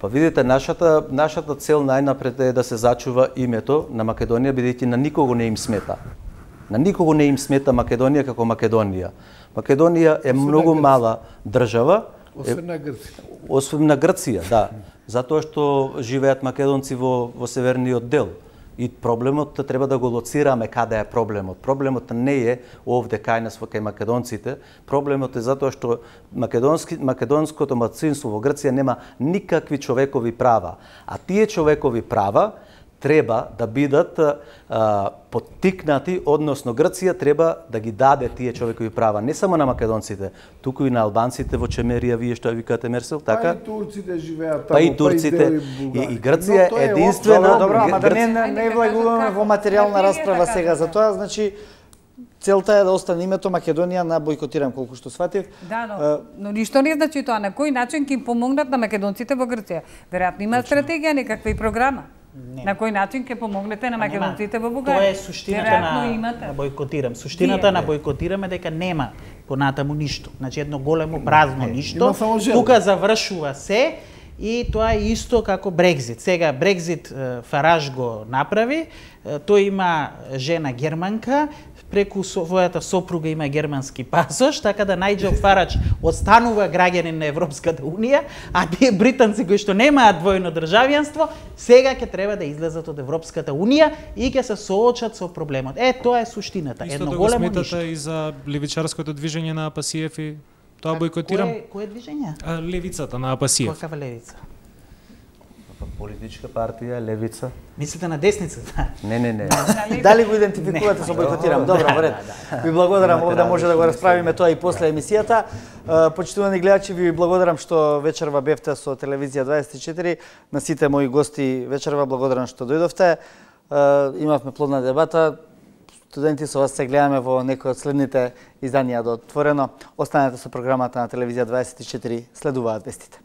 Па видите, нашата цел најнапред е да се зачува името на Македонија, бидејќи на никого не им смета. На никого не им смета Македонија како Македонија. Македонија е многу мала држава. Освен на Грција. Освен на Грција, да. Затоа што живеат македонци во северниот дел. И проблемот треба да го лоцираме каде е проблемот. Проблемот не е овде кај нас кај македонците. Проблемот е затоа што македонското малцинство во Грција нема никакви човекови права. А тие човекови права треба да бидат поттикнати, односно Грција треба да ги даде тие човекови права не само на македонците, туку и на албанците во Чемерија, вие што викате Мерсел, така? Па и турците живеат таму, па и турците, и Грција е единствена. Добро, ама да не влегуваме во материјална расправа сега за тоа, значи целта е да остане името Македонија на бојкотирам, колку што сватив. Да, но ништо не значи тоа. На кој начин ќе им помогнат на македонците во Грција? Веројатно има стратегија, некаква и програма. На кој начин ќе помогнете на македонците во Бугарија? Тоа е суштината на бојкотирам. Суштината на бојкотирам е дека нема понатаму ништо. Значи едно големо празно ништо. Тука завршува се и тоа е исто како Брекзит. Сега Брекзит Фараж го направи, тој има жена германка, преку својата сопруга има германски пасош, така да Најџел Фараџ останува граѓанин на Европската унија, а тие британци кои што немаат двојно државјанство, сега ќе треба да излезат од Европската унија и ќе се соочат со проблемот. Тоа е суштината. Едно големо ништо. Исто да го сметате и за левичарското движење на Апасиев и тоа бојкотирам? Кое движење? Левицата на Апасиев. Каква левица? Политичка партија, левица. Мислите на десницата? Не. Дали го идентификувате со бојкотирам? Добро, во ред. Ви благодарам, овде може да го расправиме тоа и после емисијата. Почитувани гледачи, ви благодарам што вечерва бевте со Телевизија 24. На сите мои гости вечерва благодарам што дојдовте. Имавме плодна дебата. Студенти, со вас се гледаме во некој од следните изданија до Отворено. Останете со програмата на Телевизија 24. Следуваат вестите.